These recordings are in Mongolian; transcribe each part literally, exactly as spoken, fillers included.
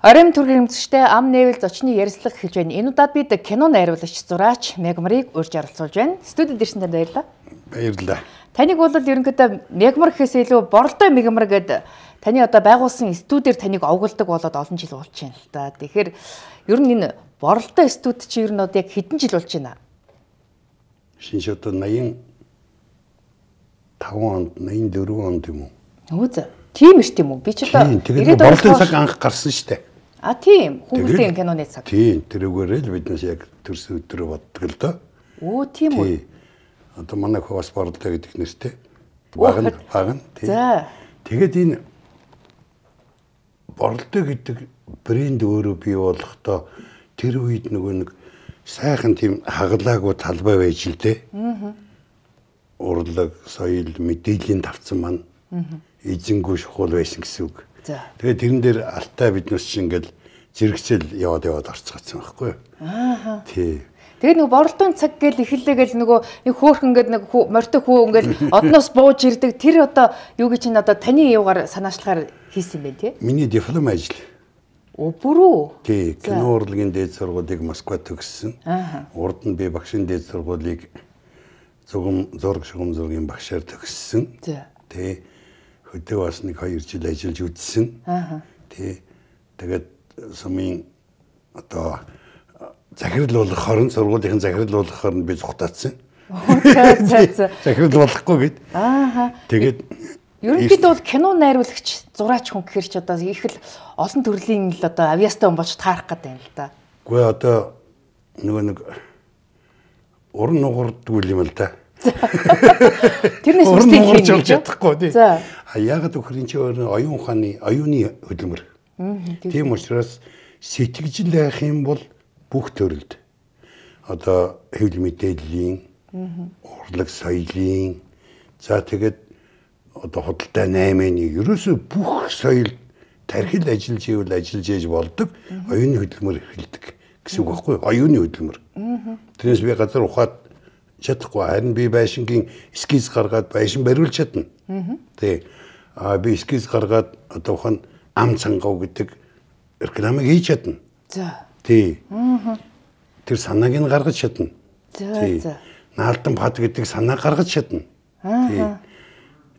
Оройн төргийн хэмжээтэй ам нээвэл зочны ярилцлага эхэлж байна. Энэ удаад бид кино найруулагч зураач Мегмарыг урьж оролцуулж байна. Студид ирсэн танд баярлалаа. Баярлалаа. Таныг бол ерөнхийдөө Мегмар гэхээс илүү Боролдой Мегмар гэдэг таны одоо байгуулсан студиэр таныг овголдог болоод олон жил болж байна л да. Тэгэхээр ер нь энэ Боролдой студи чи ер нь одоо яг хэдэн жил болж байна? Шинж одоо наян таван онд, наян дөрвөн онд юм уу? Өө за. Тийм эрт юм уу? Би ч одоо тэгээд Боролдын цаг анх гарсан шүү дээ. А тийм. Хүүхдийн киноны цаг. Тийм, тэрүүгээрээ л биднээс яг төрс өдрөө боддог л доо. Оо тийм үү. Одоо манай хөө бас Боролдой гэдэг нэртэй. Баг нь, баг нь. За. Тэгээд энэ Боролдой гэдэг брэнд өөрөө бий болохдоо тэр үед нөгөө нэг сайхан тийм хагалаагүй талбай байж л дээ. Аа. Урлаг, соёл, мэдээллийн давцсан маань эзэнгүй шухал байсан гэсэн үг. Тэгээд тэрэн дээр алтай биднээс чинь ингээл зэрэгцэл яваад яваад орцгоцсон байхгүй юу? Аа. Тий. Тэгээд нөгөө Боролдын цаг гэл эхэллээгээл нөгөө нэг хөөхөн ингээд нэг морьтой хүү ингээд одноос бууж ирдэг. Тэр одоо юу гэж чинь одоо таны юугаар санаачлахаар хийсэн бэ тий? Миний диплом ажил. Оо бүрүү. Тий, кино урлагийн дээд сургуулийг Москвад төгссөн. Аа. Урд нь би багшийн дээд сургуулийг зургам зураг шугам зургийн багшаар төгссөн. Тий. Хөдөө бас нэг хоёр жил ажиллаж үзсэн. Аа. Тий. Тэгээд сумын одоо захирлуулах хорон сургуулийн захирлуулах хорон би зүхтаацсан. Захирлуулахгүй гэд. Аа. Тэгээд ерөнхийдөө бол кино найруулагч, зураач хүн гэхэр ч одоо их л олон төрлийн л одоо авьяастай хүн болж таарах гэдэг юм л да. Үгүй одоо нөгөө нэг уран нугардгүй юм л да. Тэрнээс үстэй хийж болж чадахгүй тий. За. А ягаад гэвэл энэ чинь оюун ухааны, оюуны хөдөлмөр. Тийм учраас сэтгэжил байх юм бол бүх төрөлд одоо хэвлэл мэдээллийн, урлаг соёлын, за тэгээд одоо худалдаа наймын ерөөсөө бүх соёл тархил ажиллаж ивэл ажиллаж ээж болдог оюуны хөдөлмөр эхэлдэг гэсэн үг байхгүй юу? Оюуны хөдөлмөр. Тэрнээс би газар ухаад чадахгүй харин би байшингийн эскиз гаргаад байшин бариулж чадна. Тий. А би эскиз гаргаад одоо ухаан ам цангав гэдэг рекламыг хийж чадна. За. Тий. Тэр санааг нь гаргаж чадна. За за. Наалдан пад гэдэг санаа гаргаж чадна. Тий.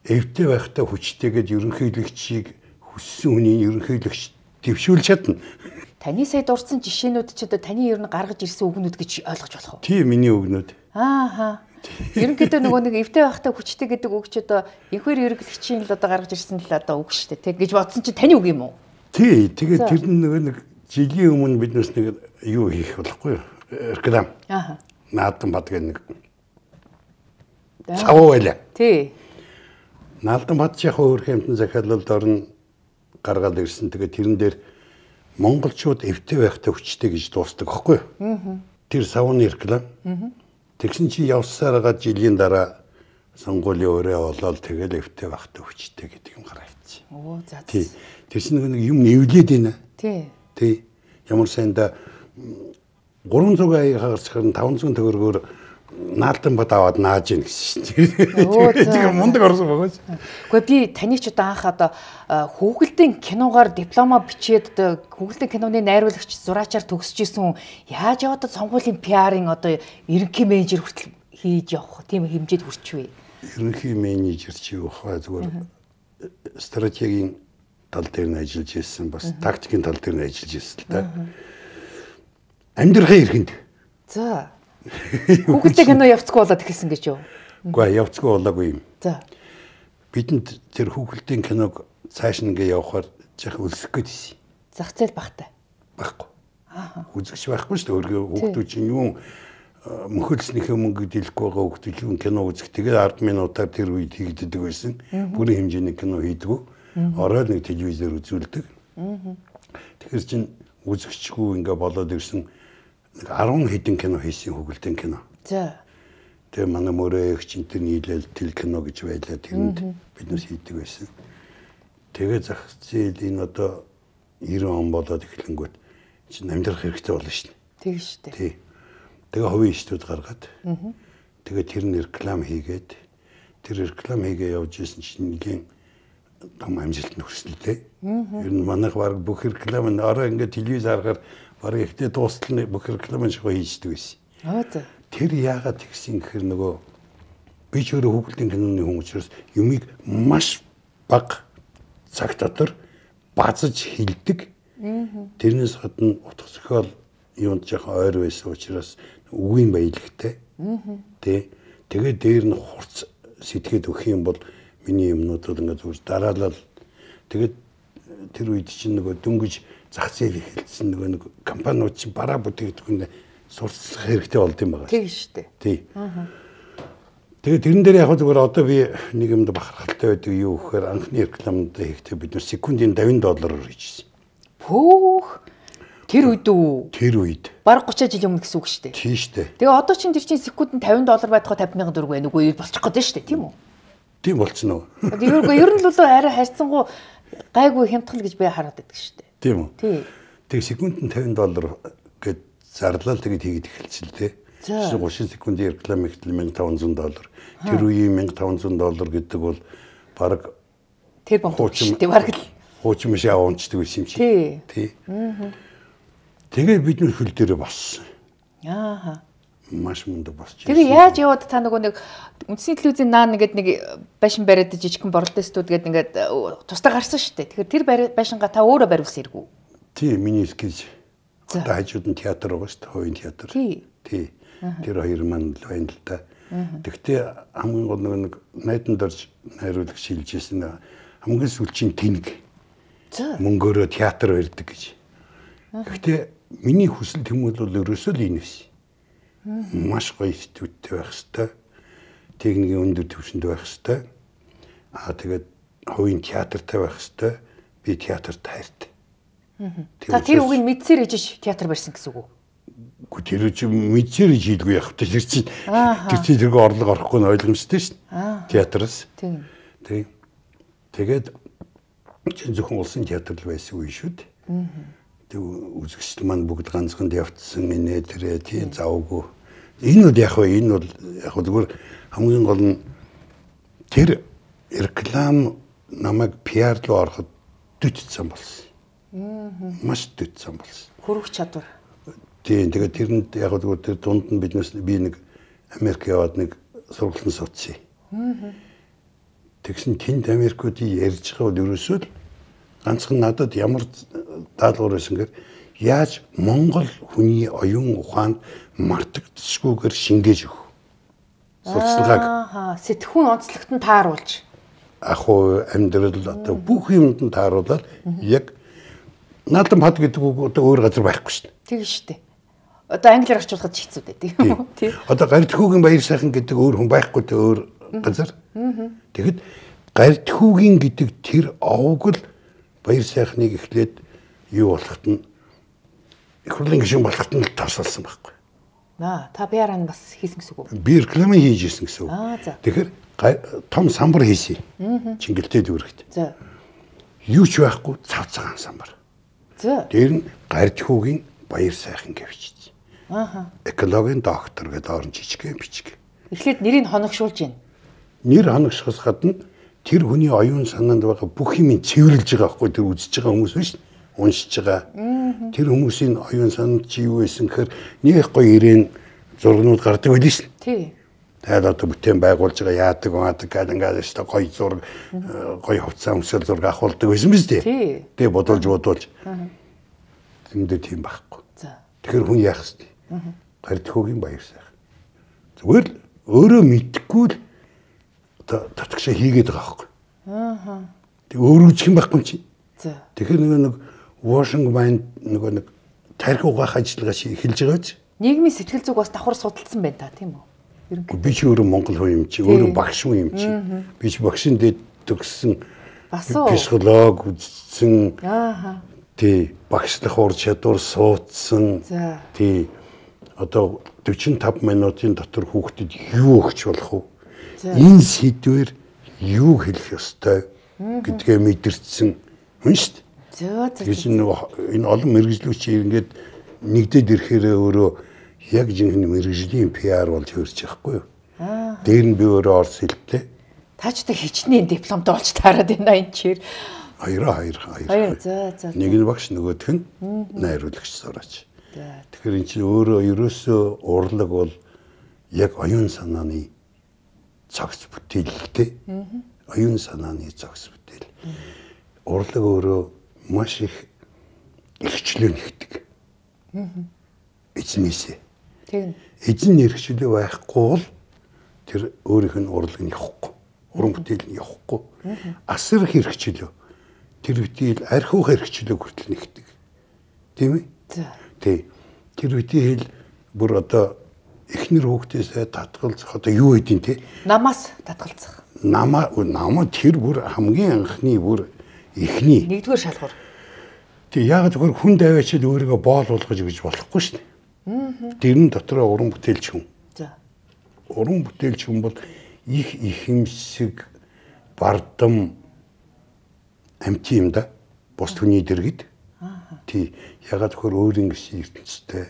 Эвтэй байхдаа хүчтэйгээд ерөнхийлөгчийг хүссэн хүний ерөнхийлөгч дэвшүүлж чадна. Таны сая дурдсан жишээнүүд ч одоо таны ер нь гаргаж ирсэн үгнүүд гэж ойлгож болох уу? Тийм миний үгнүүд. Аа. Ерөнхийдөө нөгөө нэг эвтэй байхдаа хүчтэй гэдэг үг ч одоо энхэр ерөнхийлөгчийн л одоо гаргаж ирсэн л одоо үг шүү дээ. Тэг гэж бодсон чи таны үг юм уу? Тий. Тэгээд тэр нөгөө нэг жилийн өмнө биднээс нэг юу хийх болохгүй юу? Реклам. Аа. Наалдан бад гэх нэг цавуу байлаа. Тий. Наалдан бад яг өөр хэмтэн захиалалд орно гаргаад ирсэн. Тэгээд тэрэн дээр монголчууд эвтэй байхдаа хүчтэй гэж дуустдаг байхгүй юу? Тэр савууны реклам. Тэгсэн чи явсараад жилийн дараа сонгуулийн өрөө болоод тэгэл эвтэй байхдаа хүчтэй гэдэг юм гараа авчих. Оо за. Тий. Тэр чинь нэг юм нэвлээд байна. Тий. Тий. Ямар сайнда гурван зуун хагасхаар таван зуун төгрөгөөр наалдан бод аваад нааж ийн гэсэн чинь. Тэр мундаг орсон байгаа шүү. Гэхдээ би таны ч одоо анх одоо хүүхэлдэйн киногоор диплома бичээд одоо хүүхэлдэйн киноны найруулагч зураачаар төгсөж исэн яаж яваад сонгуулийн пиарын одоо ерөнхий менежер хүртэл хийж явах тийм хэмжээд хүрчвэ. Ерөнхий менежер чи юу хаа зүгээр стратегийн тал дээр нь ажиллаж ирсэн бас тактикийн тал дээр нь ажиллаж ирсэн л да. Амьдрахын эрхэнд. За. Хүүхэлдэй кино явцгүй болоод ихсэн гэж юу? Үгүй явцгүй болоогүй юм. За. Бидэнд тэр хүүхэлдэйн киног цааш нэгээ явахаар жах өлсөх гэсэн. Зах зээл багтай. Баггүй. Аа. Үзэгч байхгүй шүү дээ. Хүүхдүүд чинь юу мөхөлснийхээ мөнгө дэлэхгүй байгаа хүүхдүүд юу кино үзэх. Тэгээд ард минутаар тэр үед хийгддэг байсан. Бүрийн хэмжээний кино хийдгүү. Ороод нэг телевизээр үзүүлдэг. Тэгэхээр чин үзэгчгүй ингээ болоод ирсэн арван хэдэн кино хийсэн хүүхэлдэйн кино. За. Тэгээ манай мөрөө их чинь тэр нийлэл тэл кино гэж байлаа. Тэрэнд биднээс хийдэг байсан. Тэгээ зах зээл энэ одоо девяносто он болоод эхлэнгүүт чинь амьдрах хэрэгтэй болно шин. Тэг шүү дээ. Тий. Тэгээ хувийн ичтүүд гаргаад. Тэгээ тэр нь реклам хийгээд тэр реклам хийгээ явж исэн чинь нэгэн том амжилтанд хүрсэлтэй. Ер нь манайх баг бүх реклам нь орой ингээд телевиз харахаар баг ихтэй дуустал нь бүх реклам шиг хийждэг байсан. Аа за. Тэр яагаад тэгсэн гэхээр нөгөө би ч өөрөө хүүхэлдэйн киноны хүн учраас юмыг маш бага цаг дотор базаж хилдэг. Тэрнээс гадна утга зохиол юунд жоохон ойр байсан учраас үгийн баялагтай. Тэ тэгээд дээр нь хурц сэтгэхэд өгөх юм бол миний юмнууд бол ингээд зүгээр дараалал тэгээд тэр үед чинь нөгөө дөнгөж зах зээл эхэлсэн нөгөө нэг компаниуд чинь бараа бүтээгдэхүүн сурцлах хэрэгтэй болд юм байна. Тийм шүү дээ. Тий. Тэгээд тэрэн дээр яг зүгээр одоо би нэг юмд бахархалтай байдаг юу гэхээр анхны рекламад хийхдээ бид нэр секундын давин доллараар хийжсэн. Пөөх. Тэр үед үү? Тэр үед. Бараг гучаа жил өмнө гэсэн үг шүү дээ. Тийм шүү дээ. Тэгээ одоо чинь тэр чинь секундэд тавин доллар байдгаа тавьж мянган төгрөг байна үгүй болчих гээд шүү дээ, тийм үү? Тийм болчихно уу? Тэргүй ер нь л болоо арай харьцангуй гайгүй хямдхан гэж би хараад байдаг шүү дээ. Тийм үү? Тий. Тэгээ секундэд тавин доллар гэд зарлал тэгээд хийгээд эхэлсэн л дээ. тридцать секундын реклам ихтэл мянга таван зуун доллар. Тэр үеийн мянга таван зуун доллар гэдэг бол баг тэр бомб шүү дээ баг л. Хуучин биш аваанчдаг байсан юм чи. Тий. Тий. Тэгээ бид нэр хөл дээрээ боссон. Ааха. Маш мундаг босч. Тэгээ яаж яваад та нөгөө нэг үндсний телевизийн наан нэгэд нэг байшин бариад жижигхэн борлоо студ гээд ингээд тусдаа гарсан шүү дээ. Тэгэхээр тэр байшингаа та өөрөө бариулсан хэрэггүй. Тий, миний эскиз. Одоо хажууд нь театр байгаа шүү дээ, хувийн театр. Тий. Тий. Тэр хоёр маань л байна л да. Тэгтээ хамгийн гол нэг найданд орж найруулагч шилжижсэн хамгийн сүүлчийн тэнэг. Мөнгөөрөө театр барьдаг гэж. Гэхдээ миний хүсэл тэмүүлэл бол ерөөсөө л энэ биш. Маш гоё студиуд байх хэвээр, техникийн өндөр түвшинд байх хэвээр. Аа тэгээд хувийн театртай байх хэвээр. Би театрт хайртай. Та тэр үгийг мэдсээр ижиж театр барьсан гэсэн үг үү? Гү тэр чинь мэдсээр ижийдгүй явах та тэр чинь тэр чинь тэргүй орлого орохгүй нь ойлгомжтой шин. Театраас. Тийм. Тэг. Тэгээд чинь зөвхөн улсын театр л байсан үе шүү дээ. Тэг үзэгчд маань бүгд ганцхан явцсан инээ тэрэ тий завгүй. Энэ бол яг вэ энэ бол яг зүгээр хамгийн гол нь тэр реклам намайг пиар руу ороход дөтцсөн болсон. Маш дөтцсөн болсон. Хөрөх чадвар. Тийм тэгээд тэрэнд яг зүгээр тэр дунд нь биднээс би нэг Америк яваад нэг сургалтын суудсан. Тэгсэн тэнд Америкуудын ярьж байгаа бол ерөөсөө л ганцхан надад ямар даалгавар байсан гэхээр яаж Монгол хүний оюун ухаанд мартагдчихгүйгээр шингээж өгөх. Сурталчилгааг. Аа, сэтгхүүн онцлогт нь тааруулж. Ах уу амьдрал одоо бүх юмд нь тааруулаад яг наадам хад гэдэг үг одоо өөр газар байхгүй шүү дээ. Тийм шүү дээ. Одоо англиар орчуулахад ч хэцүү дээ тийм үү? Тийм. Одоо Гардхүүгийн баяр сайхан гэдэг өөр хүн байхгүй тэ өөр газар. Тэгэхэд Гардхүүгийн гэдэг тэр овог л баяр сайхныг эхлээд юу болохт нь их хурлын гишүүн болохт нь тасалсан байхгүй. Аа, та пиар ан бас хийсэн гэсэн үг үү? Би реклам хийжсэн гэсэн үг. Аа, за. Тэгэхээр том самбар хийсэн. Чингэлтэй дүүрэгт. За. Юу ч байхгүй цав цагаан самбар. За. Тэр нь Гардхүүгийн баяр сайхан гэвч. Ааха. Экологийн доктор гэдэг орон жижигхэн бичиг. Эхлээд нэрийг хоногшуулж байна. Нэр хоногшохоос гадна тэр хүний оюун санаанд байгаа бүх юм цэвэрлж байгаа байхгүй тэр үзэж байгаа хүмүүс биш уншиж байгаа. Тэр хүмүүсийн оюун санаанд чи юу байсан гэхээр нэг гоё ирээн зургнууд гардаг байл шин. Тий. Тэгээд одоо бүтээн байгуулж байгаа яадаг гаадаг гэдэг ингээд өстой гоё зураг гоё хувцас өмсөл зураг авахулдаг байсан биз дээ. Тий. Тэгээ бодуулж бодуулж. Тэндээ тийм байхгүй. За. Тэгэхээр хүн яах вэ? Гардхүүгийн баяр сайхан. Зүгээр л өөрөө мэдхгүй л одоо татгшаа хийгээд байгаа байхгүй. Аа. Тэг өөрөө ч юм байхгүй чи. За. Тэгэхээр нөгөө нэг washing mind нөгөө нэг тарих угаах ажиллагаа чи эхэлж байгаа ч. Нийгмийн сэтгэл зүг бас давхар судалсан байна та тийм үү? Ерөнхийдөө би ч өөрөө Монгол хүн юм чи, өөрөө багш хүн юм чи. Би ч багшин дэд төгссөн. Психолог үзсэн. Аа. Тий, багшлах ур чадвар суудсан. Тий. Одоо forty-five минутын дотор хүүхдэд юу өгч болох вэ? Энэ сэдвэр юу хэлэх ёстой гэдгээ мэдэрсэн хүн шүү дээ. Зөө зөө. Тэгэж энэ олон мэрэгжлүүч ингээд нэгдээд ирэхээр өөрөө яг жинхэнэ мэрэгжлийн пиар болж хөрч байхгүй юу? Дээр нь би өөрөө орс хэлтэй. Та ч тэг хичнээн дипломтой болж таарад байна энэ чир. Хоёроо хоёр хоёр. Хоёр за за. Нэг нь багш нөгөөх нь найруулагч сураач. Тэгэхээр эн чинь өөрөө ерөөсөө урлаг бол яг оюун санааны цогц бүтээлтэй. Оюун санааны цогц бүтээл. Урлаг өөрөө маш их эрхчлөө нэгдэг. Эзнээсээ. Тийм. Эзэн эрхчлөө байхгүй бол тэр өөрийнх нь урлаг нь явахгүй. Уран бүтээл нь явахгүй. Асар их эрхчлөө. Тэр бүтээл архиух эрхчлөө хүртэл нэгдэг. Тийм ээ? Тий. Тэр бүтээл бүр одоо эхнэр хүүхдээсээ татгалзах одоо юу гэдин те? Намаас татгалзах. Намаа намаа тэр бүр хамгийн анхны бүр эхний нэгдүгээр шалгуур. Тэг яг зөвхөн хүн даваачид өөрийгөө боол болгож өгч болохгүй шүү дээ. Дэрэн дотроо уран бүтээлч хүн. За. Уран бүтээлч хүн бол их ихэмсэг бардам амт юм да. Бус хүний дэргэд. Тий. Ягаад гэхээр өөрийн гэсэн ертөнцтэй,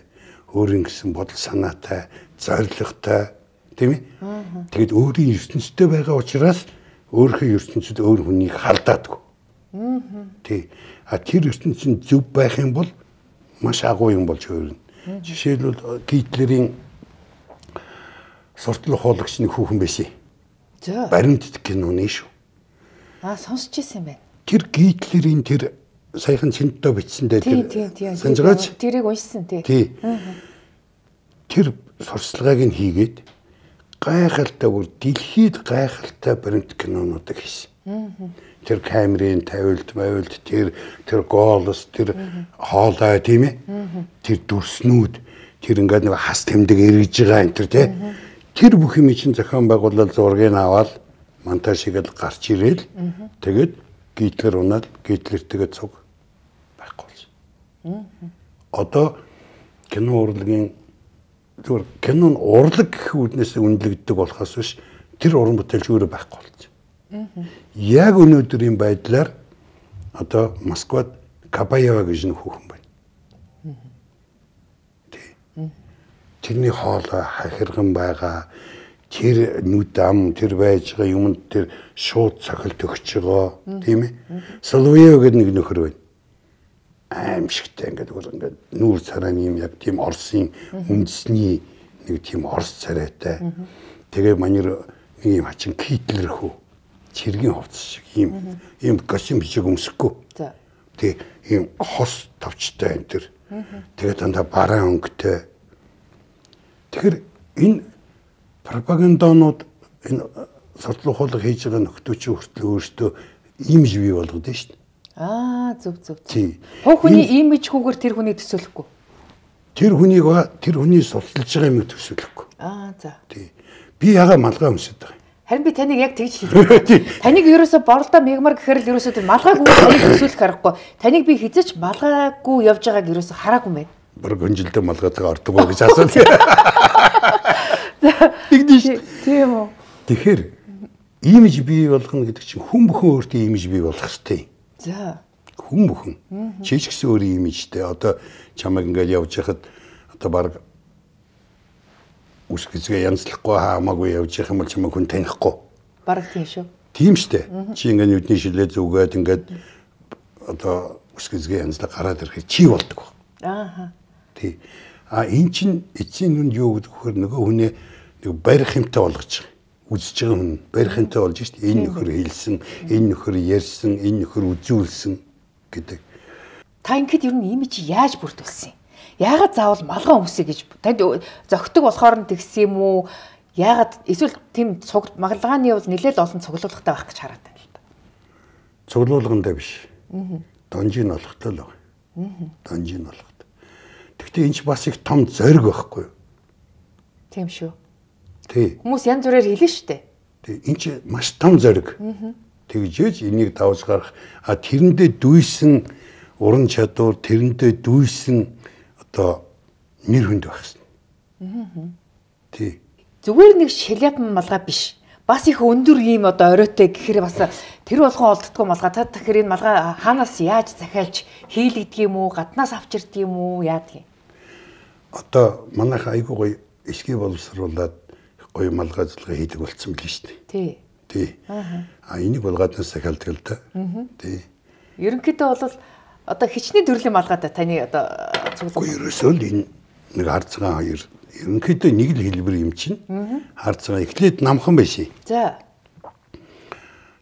өөрийн гэсэн бодол санаатай, зоригтой, тийм ээ? Тэгэд өөрийн ертөнцтэй байгаа учраас өөрийнхөө ертөнцид өөр хүнийг халдаадгүй. Тий. А тэр ертөнцийн зөв байх юм бол маш агуу юм болж өөрнө. Жишээлбэл Гитлерийн суртал ухуулагчны хүүхэн байсан. За. Баримт киноны шүү. Аа сонсч ирсэн юм байна. Тэр Гитлерийн тэр саяхан Синтдо бичсэн дээр тэр санджаач тэрийг уншсан тий. Тий. Тэр сурчлагыг нь хийгээд гайхалтай бүр дэлхийд гайхалтай баримт кинонуудыг хийсэн. Тэр камерын тавилт, мавилт, тэр тэр голос, тэр хоолой тийм ээ. Тэр дүрснүүд, тэр ингээд нэг хас тэмдэг эргэж байгаа энэ тэр тий. Тэр бүх юм чинь зохион байгуулалт зургийг аваад монтаж хийгээл гарч ирээл тэгээд Гитлер унаад Гитлертэйгээ цуг байхгүй болсон. Одоо кино урлагийн зүгээр кинон урлаг гэх үднээс үнэлэгддэг болохоос биш тэр уран бүтээлч өөрөө байхгүй болсон. Яг өнөөдрийн байдлаар одоо Москвад Кабаева гэж нэг хүүхэн байна. Тэрний хоолой хахирган байгаа. Тэр нүд ам тэр байж байгаа юмд тэр шууд цохилт өгч байгаа тийм ээ. Соловьев гэдэг нэг нөхөр байна. Аимшигтай ингээд бүр ингээд нүүр царайны юм яг тийм Орсын үндэсний нэг тийм Орс царайтай. Тэгээ манер нэг юм хачин Гитлер хөө цэргийн хувцас шиг ийм ийм костюм бичиг өмсөхгүй. За. Тэг ийм хос товчтой энэ төр. Тэгээ дандаа бараан өнгөтэй. Тэгэхээр энэ пропагандонууд энэ суртал ухуулга хийж байгаа нөхдөөч хүртэл өөртөө имиж бий болгоод байна шүү дээ. Аа зөв зөв. Тий. Хов хүний имиж хүүгээр тэр хүнийг төсөөлөхгүй. Тэр хүнийг тэр хүний сурталж байгаа юм төсөөлөхгүй. Аа за. Тий. Би яга малгай өмсөд байгаа. Харин би таныг яг тэгж хэлээ. Таныг ерөөсө борлоо мегмар гэхээр л ерөөсө тэр малгайг таныг төсөөлөх аргагүй. Таныг би хизэж малгайгүй явж байгааг ерөөсө хараагүй юм байна. Бүр гонжилдөө малгайгаа ордог гэж асуув. Тэгдэж. Тийм үү. Тэгэхээр имиж бий болгоно гэдэг чинь хүн бүхэн өөртөө имиж бий болгох хэрэгтэй. За. Хүн бүхэн. Чи ч гэсэн өөрийн имижтэй. Одоо чамайг ингээд явж хахад одоо баг үсгэцгээ янзлахгүй хамаагүй явж явах юм бол чамайг хүн танихгүй. Бараг тийм шүү. Тийм штэ. Чи ингээд нүдний шилээ зүгээд ингээд одоо үсгэцгээ янзлаг гараад ирэхэд чи болдог. Ааха. Тий. А эн чин эцсийн нүнд юу гэдэг вөхөр нөгөө хүнээ нэг барих юмтай болгож байгаа. Үзэж байгаа хүн барих юмтай болж штэ. Энэ нөхөр хэлсэн, энэ нөхөр ярьсан, энэ нөхөр үзүүлсэн гэдэг. Та ингэхэд ер нь имиж яаж бүрдүүлсэн юм? Яагаад заавал малгай өмсөе гэж танд зөгтөг болохоор нь тэгсэн юм уу? Яагаад эсвэл тийм цуг магалгааны бол нэлээд олон цуглуулгатай байх гэж хараад байна л да. Цуглуулгандаа биш. Донжийн олохтой л байгаа. Донжийн олохтой. Гэхдээ энэ ч бас их том зориг байхгүй юу? Тийм шүү. Тий. Хүмүүс янз бүрээр хэлнэ шүү дээ. Тий. Энэ ч маш том зориг. Тэгжээж энийг давж гарах а тэрэндээ дүйсэн уран чадвар, тэрэндээ дүйсэн одоо нэр хүнд байх шин. Тий. Зүгээр нэг шаляпан малгай биш. Бас их өндөр ийм одоо оройтой гэхээр бас тэр болгон олддгүй малгай. Та тэгэхээр энэ малгай хаанаас яаж захиалж хийлэгдэг юм уу? Гаднаас авчирдаг юм уу? Яадаг юм? Одоо манайх айгуу гоё эсгий боловсруулад гоё малгай зулгай хийдэг болцсон билээ шүү дээ. Тий. Тий. А энийг бол гаднаас захиалдаг л да. Тий. Ерөнхийдөө бол одоо хичнээн төрлийн малгайтай таны одоо цуглах. Ерөөсөө л энэ нэг хар цагаан хоёр ерөнхийдөө нэг л хэлбэр юм чинь. Хар цагаан эхлээд намхан байсан. За.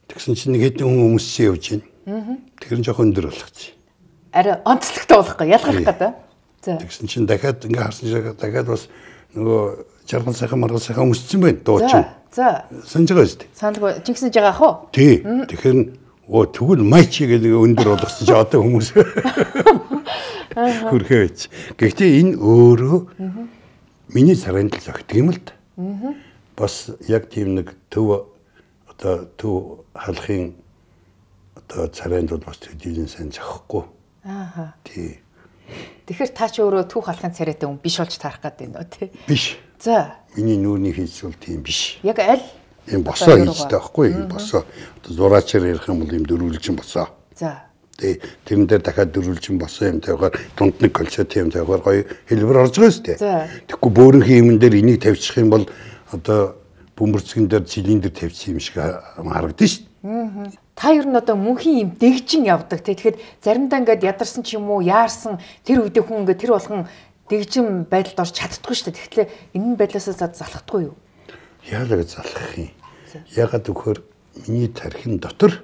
Тэгсэн чинь нэг хэдэн хүн өмссөн явж байна. Тэр нь жоохон өндөр болгочих. Арай онцлогтой болохгүй ялгарх гэдэг. За. Тэгсэн чинь дахиад ингээ харсан шиг дахиад бас нөгөө жаргал сайхан маргал сайхан өмссөн байна дуучин. За. Санаж байгаа шүү дээ. Саналгүй жигсэн жагаа ах уу? Тий. Тэгэхээр оо тэгвэл майч гэдэг өндөр болгосон чи одоо хүмүүс хүрхээ байж. Гэхдээ энэ өөрөө миний царайнд л зогтдаг юм л да. Бас яг тийм нэг төв одоо төв халахын одоо царайнд бол бас төдийлэн сайн зохихгүй. Ааха. Тий. Тэгэхээр та ч өөрөө түүх халахын царайтай хүн биш болж таарах гэдэг нь үү тий? Биш. За. Миний нүүрний хийц бол тийм биш. Яг аль? Ийм босоо хийцтэй байхгүй юу? Босоо. Одоо зураачаар ярих юм бол ийм дөрвөлжин босоо. За. Тий. Тэрэн дээр дахиад дөрвөлжин босоо юм тавихаар дунд нэг колчоо тийм тавихаар гоё хэлбэр орж байгаа шүү дээ. За. Тэгэхгүй бөөрөнхий юмн дээр энийг тавьчих юм бол одоо бөмбөрцгөн дээр цилиндер тавьчих юм шиг харагдана шүү дээ. Та ер нь одоо мөнхийн юм дэгжин явдаг тий. Тэгэхэд заримдаа ингээд ядарсан ч юм уу яарсан тэр үедээ хүн ингээд тэр болгон дэгжин байдалд орж чаддгүй шүү дээ. Тэгэхээр энэ байдлаас залхдаггүй юу? Яалаг залхах юм. Ягаад гэвэл миний тархин дотор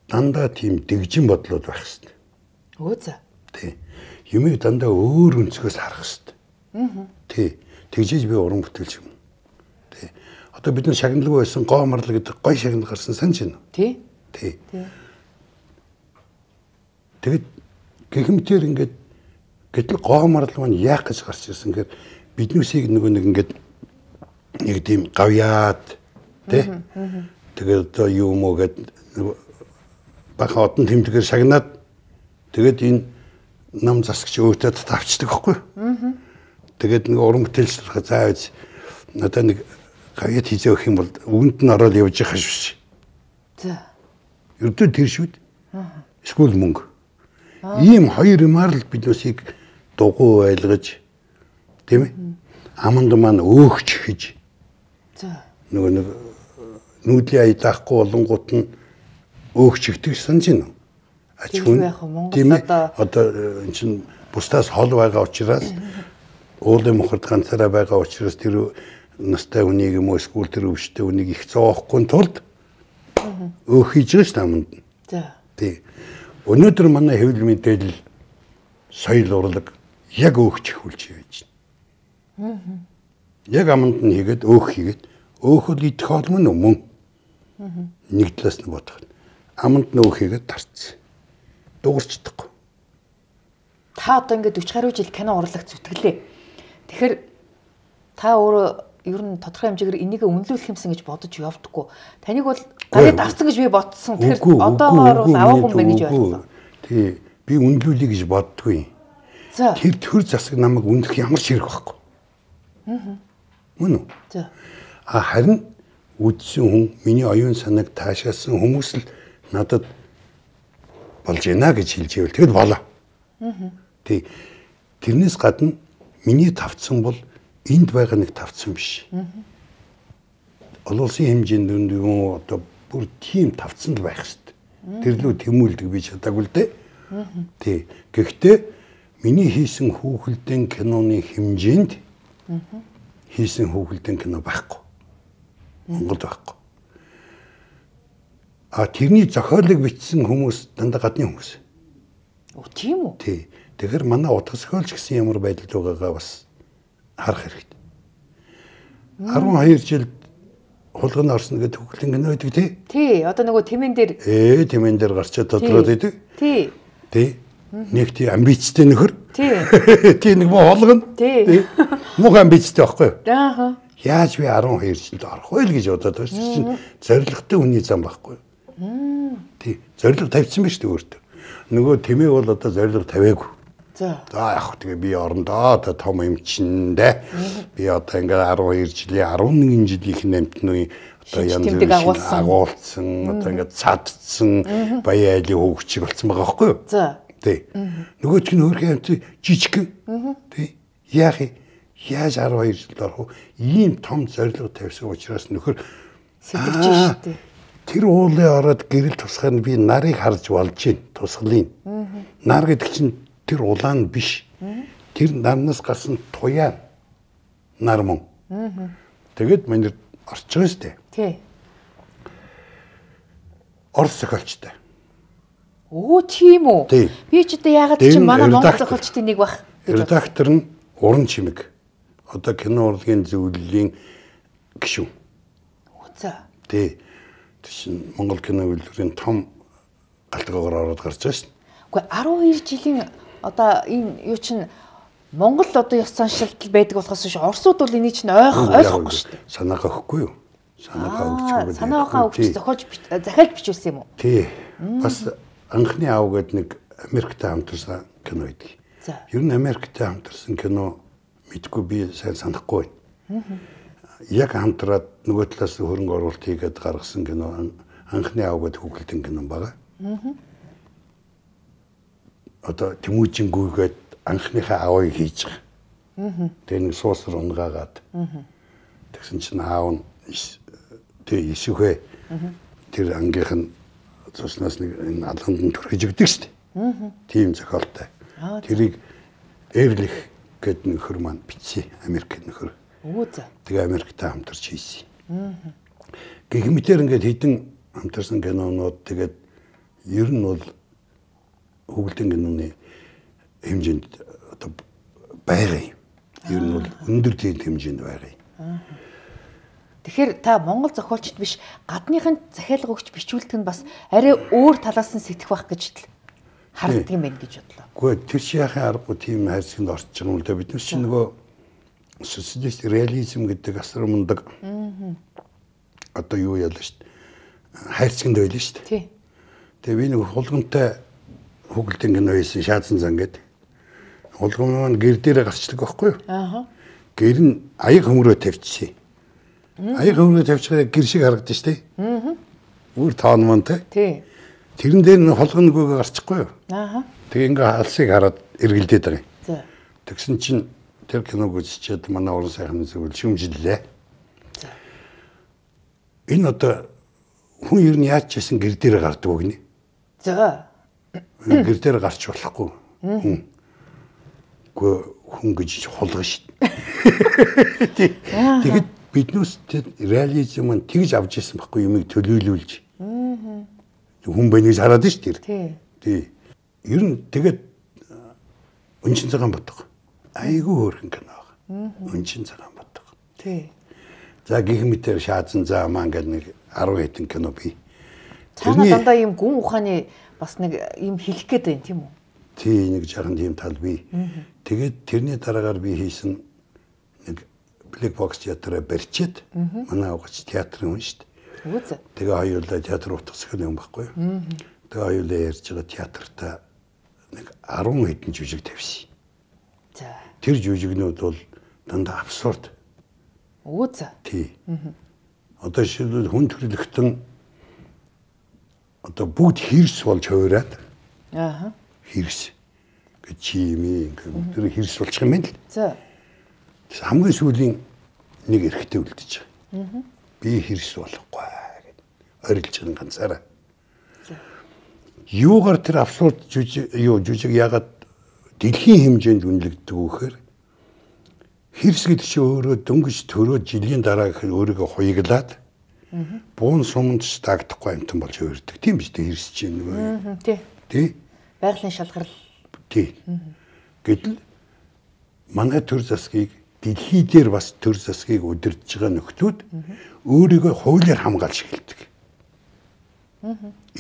дандаа тийм дэгжин бодлууд байх хэрэгтэй. Өө за. Тий. Юмыг дандаа өөр өнцгөөс харах хэрэгтэй. Аа. Тий. Тэгжээж би уран бүтээлч юм. Тий. Одоо бид нар шагналгүй байсан гоо марлаг гэдэг гой шагнал гарсан санаж байна. Тий. Тий. Тэгэд гихмтэр ингээд гэтэл гоо марлаг маань яах гэж гарч ирсэн гэхээр биднүүсийг нөгөө нэг ингээд нэг тийм гавьяад тий. Тэгээд одоо юу мөө гэд бахан одон тэмдэгээр шагнаад тэгээд энэ нам засагч өөтөд тавчдаг байхгүй. Аа. Тэгээд нэг уран бүтээлчлэрхэ заавч надад нэг гавьяад хийжээ өгөх юм бол үгэнд нь ороод явж байгаа шүү. За. Ердөө тэр шүүд. Аа. Эсвэл мөнгө. Ийм хоёр юмар л биднүүсийг дугуй байлгаж тийм ээ. Аманд маань өөгч хийж. За. Нөгөө нэг нүүдлийн ая даахгүй болонгууд нь өөгч ихдэг санаж байна. Ач хүн тийм ээ. Одоо эн чин бусдаас хол байгаа учраас уулын мохорд ганцаараа байгаа учраас тэр настай хүнийг юм уу эсвэл тэр өвчтэй хүнийг их зоохгүй тулд өөх хийж байгаа шүү аманд. За. Тий. Өнөөдөр манай хэвлэл мэдээлэл соёл урлаг яг өөхч хүүлж байж байна. Аа. Яг аманд нь хийгээд өөх хийгээд өөхөл идэх холм нь мөн. Аа. Нэг талаас нь бодох. Аманд нь өөх хийгээд тарцсан. Дуурчдаггүй. Та одоо ингээд forty гаруй жил кино урлагт зүтгэлээ. Тэгэхээр та өөрөө ер нь тодорхой хэмжээгээр энийг үнэлүүлэх юмсан гэж бодож явдаггүй. Таныг бол гарыг авсан гэж би бодсон. Тэгэхээр одоогоор бол аваагүй мэн гэж бодлоо. Тий. Би үнэлүүлэе гэж боддгүй. За. Тэр төр засаг намайг үнэлэх ямар ч хэрэг байхгүй. Аа. Мөн үү? За. А харин үдсэн хүн миний оюун санааг таашаасан хүмүүс л надад болж байна гэж хэлж ивэл тэгэл болоо. Аа. Тий. Тэрнээс гадна миний тавцсан бол энд байгаа нэг тавцсан биш. Аа. Олон улсын хэмжээнд юм одоо бүр тийм тавцсан л байх хэрэгтэй. Тэр лөө тэмүүлдэг би чадаагүй л дээ. Аа. Тий. Гэхдээ миний хийсэн хүүхэлдэйн киноны хэмжээнд аа хийсэн хүүхэлдэйн кино байхгүй. Монголд байхгүй. А тэрний зохиолыг бичсэн хүмүүс дандаа гадны хүмүүс. Оо тийм үү? Тий. Тэгэхээр манай утга зохиолч гэсэн ямар байдалд байгаагаа бас харах хэрэгтэй. twelve жил хулганд орсон гэдэг хүүхэлдэйн кино байдаг тий? Тий. Одоо нөгөө тэмэн дээр ээ тэмэн дээр гарчаад тодроод байдаг. Тий. Тий. Нэг тий амбицтай нөхөр. Тий. Тий нэг муу холгоно. Тий. Муу амбицтай байхгүй юу? Ааха. Яаж би twelve жилд орох вэ гэж бодоод байна чинь зоригтой хүний зам байхгүй юу? Тий. Зориг тавьсан биш үү өөртөө. Нөгөө тэмээ бол одоо зориг тавиагүй. За. За яг тэгээ би орондоо одоо том юм чинь дээ. Би одоо ингээд twelve жилийн eleven жилийн амтны одоо янз бүрийн агуулсан одоо ингээд цадцсан баяа айлын хөвгчиг болсон байгаа байхгүй юу? За. Тий. Нөгөөч нь өөрхөн амт жижиг. Тий. Яах юм? Яаж twelve жилд орох вэ? Ийм том зориг тавьсан учраас нөхөр сэтгэж шүү дээ. Тэр уулын ороод гэрэл тусгаар нь би нарыг харж болж байна. Тусгалын. Нар гэдэг чинь тэр улаан биш. Тэр нарнаас гарсан туяа нар мөн. Тэгэд манайд орч байгаа шүү дээ. Тий. Орос зохиолчтой. Оо тийм үү. Би ч одоо яагаад чи манай монгол зохиолчдын нэг бах. Редактор нь Уран Чимэг. Одоо кино урлагийн зөвлөлийн гишүүн. Үгүй. Тий. Тэшин Монгол кино үйлдвэрийн том галтгоогоор ороод гарч байгаа шин. Үгүй арван хоёр жилийн одоо энэ юу чинь Монгол одоо ёс заншилтал байдаг болохоос биш Оросууд бол энийг чинь ойх ойлгохгүй шүү дээ. Санаагаа өгөхгүй юу? Санаагаа өгч байгаа. Санаагаа өгч зохиолж захиалж бичүүлсэн юм уу? Тий. Бас анхны аав гэдэг нэг Америктэй хамтарсан кино байдаг. Ер нь Америктэй хамтарсан кино мэдгүй би сайн санахгүй байна. Яг хамтраад нөгөө талаас хөрөнгө оруулалт хийгээд гаргасан кино анхны аав гэдэг хүүхэлдэйн кино байгаа. Одоо Тэмүүжин гүйгээд анхныхаа аавыг хийж байгаа. Тэгээ нэг суусар унгаагаад. Тэгсэн чинь аав нь тэгээ ишвхэ тэр ангийнх нь цуснаас нэг энэ алганд нь түрхэж өгдөг шүү дээ. Тийм зохиолтой. Тэрийг Эрлих гэдэг нөхөр маань бичсэн Америк нөхөр. Үгүй. Тэгээ Америктэй хамтарч хийсэн. Гэгмитээр ингээд хэдэн хамтарсан кинонууд тэгээд ер нь бол хүүхэлдэйн киноны хэмжээнд одоо байгаа юм. Ер нь бол өндөр тийм хэмжээнд байгаа юм. Тэгэхээр та Монгол зохиолчд биш гадныхын захиалга өгч бичүүлдэг нь бас арай өөр талаас нь сэтгэх байх гэж харддаг юм байна гэж бодлоо. Гэхдээ тэр шияхын аргагүй тийм хайрцагт орж байгаа юм л да. Бид нар чинь нөгөө социалист реализм гэдэг асар мундаг одоо юу яалаа шүү дээ. Хайрцагт байлаа шүү дээ. Тий. Тэгээ би нэг хулгамтай хүүхэлдэйн кино хийсэн Шаазан зан гэдэг. Хулгам маань гэр дээрээ гарчдаг байхгүй юу? Аа. Гэр нь аяг хөмрөө тавьчихсан. Аяг хөмрөө тавьчихаа гэр шиг харагдаж шүү дээ. Аа. Үр тоон мөн тий. Тэрэн дээр нь холгоноггүйгээ гарчихгүй юу? Аа. Тэгээ ингээ алсыг хараад эргэлдээд байгаа юм. За. Тэгсэн чинь тэр киног үзчихэд манай уран сайхны зөвлөл шүмжиллээ. За. Энэ одоо хүн ер нь яаж ч гэсэн гэр дээр гардаг өгнө. За. Гэр дээр гарч болохгүй. Хүн. Гэхдээ хүн гэж хулгана шүү дээ. Тэгэд биднээс реализм нь тэгж авч ирсэн байхгүй юмыг төлөөлүүлж. Аа. Хүн байна гэж хараад шүү дээ. Тий. Тий. Ер нь тэгээд Өнчин цагаан бодго. Айгүй хөөрхөн кино байгаа. Өнчин цагаан бодго. Тий. За гихмитээр Шаазан заа маань гэдэг нэг арван хэдэн кино бий. Цаана дандаа ийм гүн ухааны бас нэг ийм хэлэх гээд байна тийм үү? Тий, нэг жаахан тийм тал бий. Тэгээд тэрний дараагаар би хийсэн нэг Black Box театраа барьчиад манай авгач театрын хүн шүү дээ. Үгүй. Тэгээ хоёулаа театр утгасгал юм байхгүй юу? Тэгээ хоёулаа ярьж байгаа театртаа нэг арван хэдэн жүжиг тавьсан. За. Тэр жүжигнүүд бол дандаа абсурд. Үгүй. Тий. Одоо шилбэл хүн төрлөختөн одоо бүгд хэрс болж хувираад. Аа. Хэрс. Гэ чими ингээ тэр хэрс болчих юм байна л. За. Хамгийн сүүлийн нэг эрэгтэй үлдэж байгаа. Би хэрс болохгүй гэд орилж байгаа ганцаараа. Юугаар тэр абсурд жүжиг юу жүжиг ягаад дэлхийн хэмжээнд үнэлэгддэг вөхөр хэрс гэдэг чинь өөрөө дөнгөж төрөө жилийн дараа гэхээр өөрийгөө хуйглаад буун суманд ч тагдахгүй амтан болж өөрдөг. Тийм биз дээ хэрс чинь нөгөө. Тий. Тий. Байгалийн шалгарал. Тий. Гэтэл манай төр засгийг дэлхий дээр бас төр засгийг удирдах байгаа нөхдүүд өөрийгөө хуулиар хамгаалж эхэлдэг.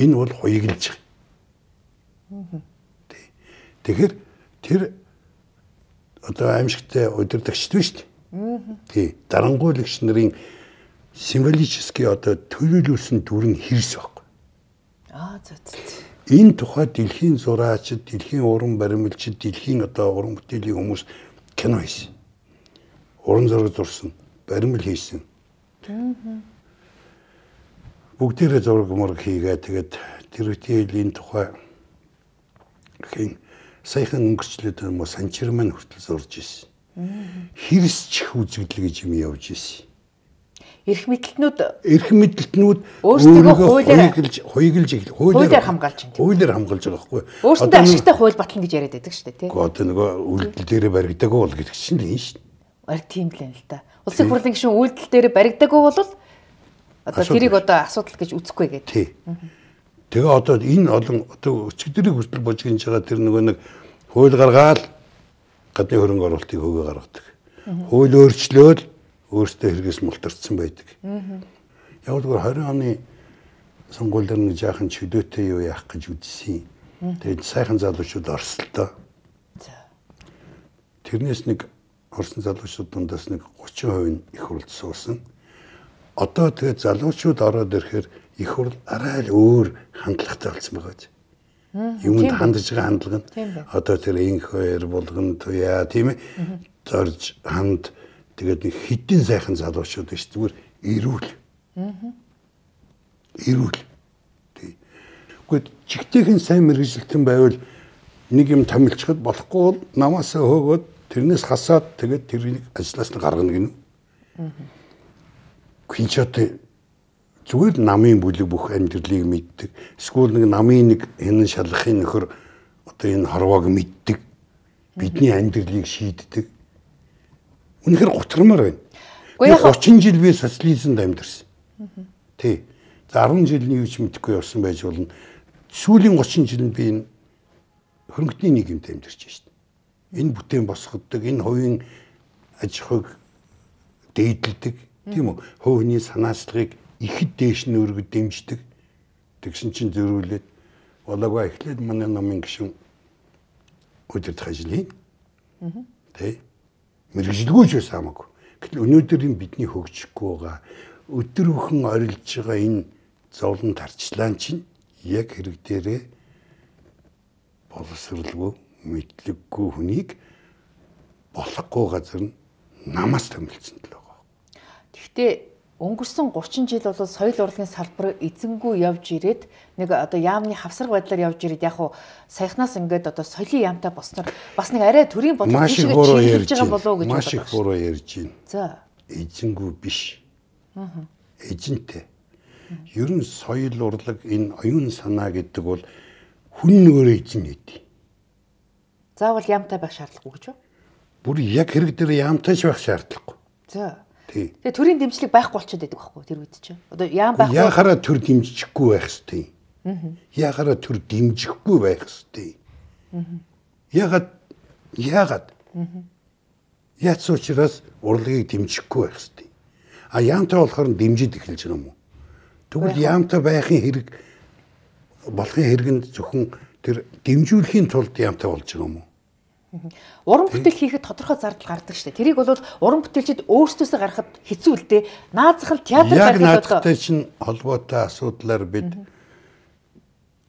Энэ бол хуйглаж байгаа. Тэгэхээр тэр одоо аимшигтай удирдагчд биш үү? Тий. Дарангуйлагч нарын символически одоо төлөөлүүлсэн дүр нь хэрс байхгүй. Аа за за. Энэ тухай дэлхийн зураачид, дэлхийн уран баримлчид, дэлхийн одоо уран бүтээлийн хүмүүс кино хийсэн. Уран зураг зурсан, баримл хийсэн. Бүгдээрээ зураг мураг хийгээ тэгээд тэр үеийн тухай хин саяхан өнгөрчлөөд юм уу санчир маань хүртэл зурж ирсэн. Хэрс чих үзэгдэл гэж юм явж ирсэн. эрх мэдэлтнүүд эрх мэдэлтнүүд өөрсдөө хуулиар хуйглж хуйглж хуулиар хамгаалж байна. Хуулиар хамгаалж байгаа байхгүй. Өөрсдөө ашигтай хууль батлна гэж яриад байдаг шүү дээ, тий. Одоо нөгөө үйлдэл дээр баригдаагүй бол гэдэг чинь л юм шүү дээ. Арь тийм л юм л та. Улсын хурлын гишүүн үйлдэл дээр баригдаагүй бол одоо тэрийг одоо асуудал гэж үзэхгүй гэдэг. Тий. Тэгээ одоо энэ олон одоо өчигдрийг хүртэл бож гинж байгаа тэр нөгөө нэг хууль гаргаад гадны хөрөнгө оруулалтыг хөвөө гаргадаг. Хууль өөрчлөөл өөртөө хэрэгээс мултарцсан байдаг. Яг л двадцать оны сонгуульд нэг жаахан чөлөөтэй юу яах гэж үзсэн. Тэгээд сайхан залуучууд орсолтой. Тэрнээс нэг орсон залуучууд дундаас нэг тридцать процент нь их хурлд суусан. Одоо тэгээд залуучууд ороод ирэхээр их хурл арай л өөр хандлагатай болсон байгаа. Юмд хандж байгаа хандлага нь одоо тэр инх хоёр булган туяа тийм ээ зорж ханд тэгээд нэг хитэн сайхан залуучууд биш зүгээр эрүүл. Эрүүл. Тий. Гэхдээ чигтэйхэн сайн мэргэжилтэн байвал нэг юм томилчиход болохгүй бол намаасаа хөөгөөд тэрнээс хасаад тэгээд тэрийг ажлаас нь гаргана гинэ. Хинчаатай зүгээр намын бүлэг бүх амьдралыг мэддэг. Эсвэл нэг намын нэг энэ шалгахын нөхөр одоо энэ хорвоог мэддэг. Бидний амьдралыг шийддэг. Үнэхээр гутрамаар байна. тридцать жил би социализмд амьдэрсэн. Тий. За десять жилийн юу ч мэдэхгүй явсан байж болно. Сүүлийн тридцать жилд би энэ хөрөнгөний нийгэмд амьдарч байна шүү дээ. Энэ бүтээн босгодог, энэ хувийн аж ахуйг дээдэлдэг, тийм үү? Хувийн санаачлагыг ихэд дээш нь өргөд дэмждэг. Тэгсэн чинь зөрүүлээд болоогүй эхлээд манай намын гишүүн өдөрт ажиллая. Тэ. Мэргэжилгүй ч байсан хамаагүй. Гэтэл өнөөдөр энэ бидний хөгжихгүй байгаа өдөр бүхэн орилж байгаа энэ зовлон тарчлаан чинь яг хэрэг дээрээ боловсралгүй, мэдлэггүй хүнийг болохгүй газар нь намаас томилсон л байгаа. Гэхдээ өнгөрсөн тридцать жил бол соёл урлагийн салбар эзэнгүй явж ирээд нэг одоо яамны хавсраг байдлаар явж ирээд яг хуу саяхнаас ингээд одоо соёлын яамтай босноор бас нэг арай төрийн бодлого тийшээ чиглэж байгаа болов уу гэж бодож байна. Маш их буруу ярьж байна. За. Эзэнгүй биш. Аа. Эзэнтэй. Ер нь соёл урлаг энэ оюун санаа гэдэг бол хүн нөгөөрөө эзэн гэдэг. Заавал яамтай байх шаардлагагүй гэж үү? Бүр яг хэрэг дээр яамтай ч байх шаардлагагүй. За. Тий. Тэгээ төрийн дэмжлэг байхгүй болчиход байдаг байхгүй тэр үед чинь. Одоо яам байхгүй. Яахаараа төр дэмжихгүй байх ёстой. Аа. Яахаараа төр дэмжихгүй байх ёстой. Аа. Ягаад ягаад? Аа. Яц учраас урлагийг дэмжихгүй байх ёстой. А яамтай болохоор дэмжиж эхэлж байгаа юм уу? Тэгвэл яамтай байхын хэрэг болохын хэрэг нь зөвхөн тэр дэмжүүлэхийн тулд яамтай болж байгаа юм уу? Уран бүтээл хийхэд тодорхой зардал гардаг шүү дээ. Тэрийг бол уран бүтээлчид өөрсдөөсөө гаргахад хэцүү л дээ. Наазах нь театр яг наадахтай чинь холбоотой асуудлаар бид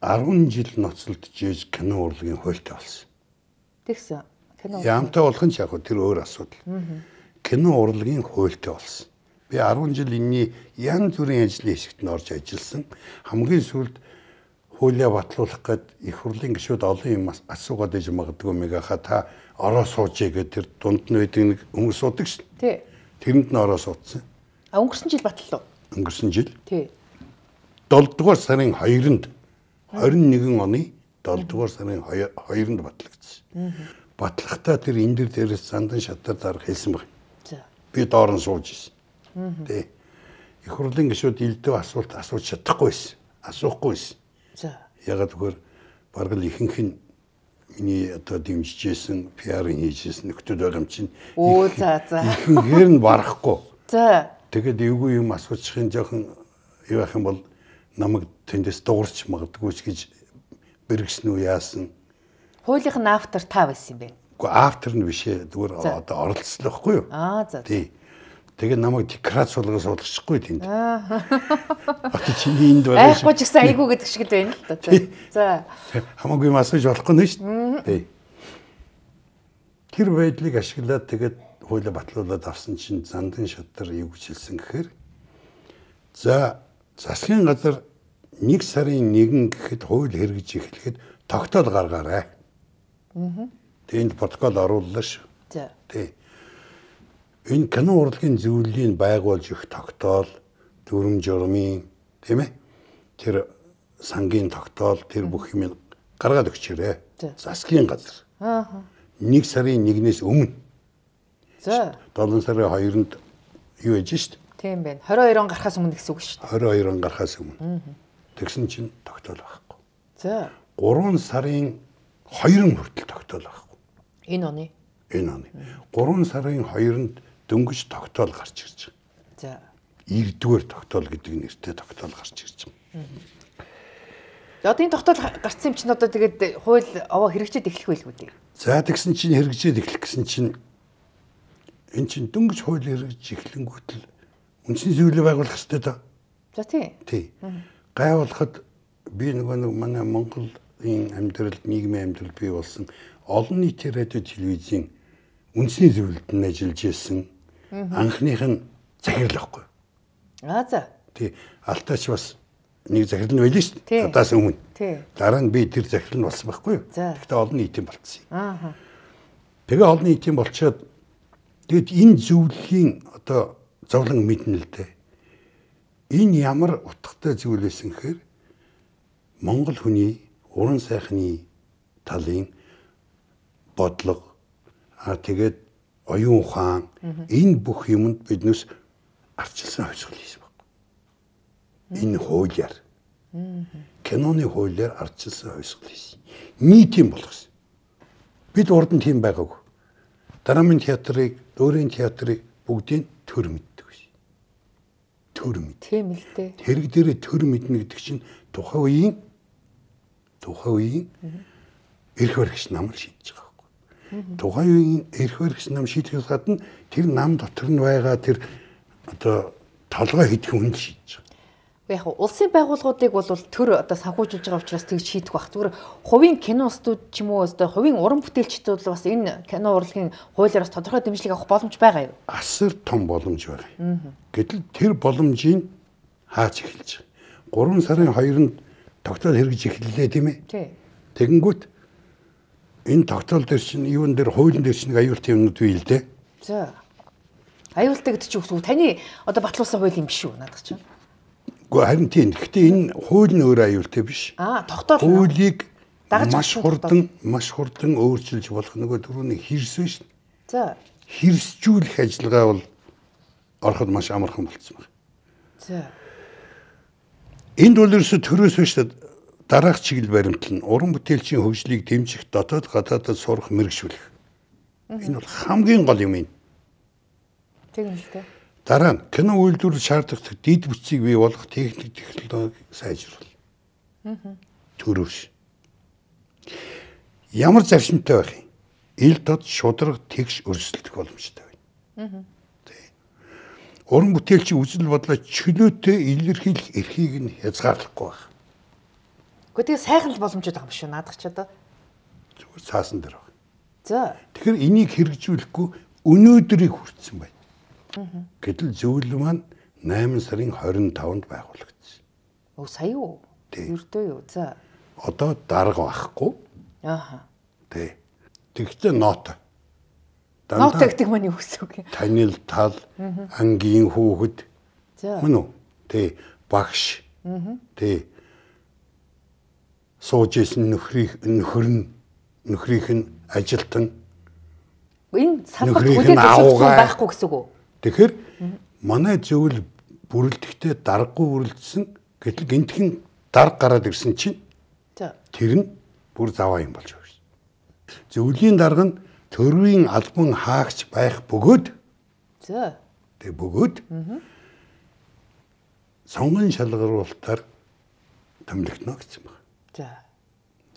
десять жил ноцолдож ийж кино урлагийн хуультай болсон. Тэгсэн. Кино. Яамтай болох нь ч яг тэр өөр асуудал. Кино урлагийн хуультай болсон. Би десять жил энэний янз бүрийн ажлын хэсэгт нь орж ажилласан. Хамгийн сүүлд хуулиа батлуулах гээд их хурлын гишүүд олон юм асуугаад иж магадгүй мегаха та ороо суужээ гэдэг тэр дунд нь байдаг нэг хүмүүс суудаг шин. Тий. Тэрэнд нь ороо суудсан. А өнгөрсөн жил батлав. Өнгөрсөн жил. Тий. долоо дугаар сарын хоёрнд двадцать один оны долоо дугаар сарын хоёрнд батлагдсан. Батлахтаа тэр энэ дэр дээрээс зандан шатаар дарах хэлсэн баг. За. Би доор нь сууж ирсэн. Тий. Их хурлын гишүүд илдөө асуулт асууж чадахгүй байсан. Асуухгүй байсан. За. Ягаад гэвэл бараг л ихэнх нь миний одоо дэмжижсэн, пиар хийжсэн нөхдөд байгаа юм чинь. Оо за за. Ихэнхээр нь барахгүй. За. Тэгэд эвгүй юм асуучихын жоохон юу ах юм бол намайг тэндээс дуурч магадгүй ч гэж бэргсэн үү яасан. Хуулийнх нь автор та байсан юм бэ? Уу автор нь биш ээ. Зүгээр одоо оролцсон байхгүй юу? Аа за. Тий. Тэгээд намайг декрат суулгаас болгочихгүй тэнд. Аа. Одоо чиний энд байгаа. Айхгүй ч гэсэн айгүй гэдэг шиг л байна л да. За. Хамаагүй масаж болохгүй нэ шүү дээ. Тий. Тэр байдлыг ашиглаад тэгээд хуулиа батлуулаад авсан чинь зандан шатар юу гэж хэлсэн гэхээр за засгийн газар нэг сарын нэгэн гэхэд хууль хэрэгжиж эхлэхэд тогтоол гаргаарай. Аа. Тэнд протокол орууллаа шүү. За. Тий. Энэ кино урлагийн зөвлөлийг байгуулж өгөх тогтоол, дүрм журмын тийм ээ. Тэр сангийн тогтоол тэр бүх юм гаргаад өгчээрэй. Засгийн газар. Аа. Нэг сарын нэгнээс өмнө. За. долоо сарын хоёрнд юу яж шít? Тийм байна. двадцать хоёр он гарахаас өмнө гэсэн үг шүү дээ. двадцать хоёр он гарахаас өмнө. Тэгсэн чинь тогтоол байхгүй. За. гурван сарын хоёрын хүртэл тогтоол байхгүй. Энэ оны. Энэ оны. гурван сарын хоёрнд дөнгөж тогтоол гарч ирж байгаа. За. Ирдүгээр тогтоол гэдэг нэртэй тогтоол гарч ирж байгаа. Одоо энэ тогтоол гарсан юм чинь одоо тэгээд хууль овоо хэрэгжээд эхлэх байлгүй дээ. За тэгсэн чинь хэрэгжээд эхлэх гэсэн чинь эн чинь дөнгөж хууль хэрэгж эхлэнгүүт л үндэсний зөвлөлөө байгуулах хэрэгтэй да. За тий. Тий. Гайвуулахад би нөгөө нэг манай Монголын амьдралд нийгмийн амьдрал бий болсон олон нийтийн радио телевизийн үндэсний зөвлөлд нь ажиллаж исэн анхных нь захирал байхгүй. Аа за. Тий. Алтаач бас нэг захирал нь байлээ шүү дээ. Удаас өмнө. Тий. Дараа нь би тэр захирал нь болсон байхгүй юу? Гэхдээ олон нийтийн болцсон. Аа. Тэгээ олон нийтийн болчоод тэгэд энэ зөвлөлийн одоо зовлон мэднэ л дээ. Энэ ямар утгатай зүйл байсан гэхээр Монгол хүний уран сайхны талын бодлого а тэгээд оюун ухаан энэ бүх юмд биднээс арчилсан хувьсгал хийсэн баг. Энэ хуулиар. Киноны хуулиар арчилсан хувьсгал хийсэн. Нийтийн болгосон. Бид урд нь тийм байгаагүй. Драмын театрыг, өөрийн театрыг бүгдийг төр мэддэг биш. Төр мэд. Тийм л дээ. Тэрэг дээрээ төр мэднэ гэдэг чинь тухайн үеийн тухайн үеийн эрх баригч намар шийдэж байгаа байхгүй. Тухайн үеийн эрх баригч нам шийдэхээс гадна тэр нам дотор нь байгаа тэр одоо толгой хийх хүн шийдэж байгаа. Яг улсын байгууллагуудыг бол төр одоо санхүүжүүлж байгаа учраас тэгж шийдэх бах. Зүгээр хувийн кино студ ч юм уу одоо хувийн уран бүтээлчдүүд бол бас энэ кино урлагийн хуулиар бас тодорхой дэмжлэг авах боломж байгаа юу? Асар том боломж байна. Гэтэл тэр боломжийг хаач эхэлж байгаа. гурван сарын хоёрнд тогтоол хэрэгж эхэллээ тийм ээ. Тий. Тэгэнгүүт энэ тогтоол дээр чинь юун дээр хуулийн дээр чинь аюултай юмнууд бий л дээ. За. Аюултай гэдэг чинь үгүй таны одоо батлуулсан хууль юм биш үү надад чинь? Гэхдээ харин тийм. Гэхдээ энэ хууль нь өөрөө аюултай биш. Аа, тогтоол. Хуулийг маш хурдан, маш хурдан өөрчилж болох нөгөө түрүүний хэрс биш. За. Хэрсжүүлэх ажиллагаа бол ороход маш амархан болцсон байна. За. Энд бол ерөөсө төрөөс биш дараах чиглэл баримтал нь уран бүтээлчийн хөгжлийг дэмжих, дотоод гадаадд сурах, мэрэгшүүлэх. Энэ бол хамгийн гол юм юм. Тийм л дээ. Дараа нь кино үйлдвэрлэл шаардлагатай дэд бүтцийг бий болгох техник технологи сайжруулах. Аа. Төрөөш. Ямар зарчимтай байх юм? Ил дод шударга тэгш өрсөлдөх боломжтой байна. Аа. Уран бүтээлчийн үзэл бодлоо чөлөөтэй илэрхийлэх эрхийг нь хязгаарлахгүй байна. Гэхдээ тэгээ сайхан л боломжтой байгаа юм шүү наадах ч одоо. Зүгээр цаасан дээр байна. За. Тэгэхээр энийг хэрэгжүүлэхгүй өнөөдрийг хүртсэн байна. Гэтэл зөвлөл маань найман сарын двадцать таванд байгуулагдсан. Оо сая юу? Ердөө юу? За. Одоо дарга байхгүй. Ааха. Тэ. Тэгвэл ноот. Ноот гэдэг маань юу гэсэн үг юм? Танил тал, ангийн хүүхэд. За. Мөн үү? Тэ. Багш. Тэ. Сууж исэн нөхрийг нөхөр нь нөхрийнх нь ажилтан. Энэ салбарт хүлээж авах байхгүй гэсэн үг үү? Тэгэхээр манай зөвл бүрэлдэхтэй даргагүй бүрэлдсэн гэтэл гинтхэн дарга гараад ирсэн чинь тэр нь бүр заваа юм болж байна. Зөвлийн дарга нь төрийн албан хаагч байх бөгөөд за тэг бөгөөд сонгон шалгаруулалтаар томилогдно гэсэн байна. За.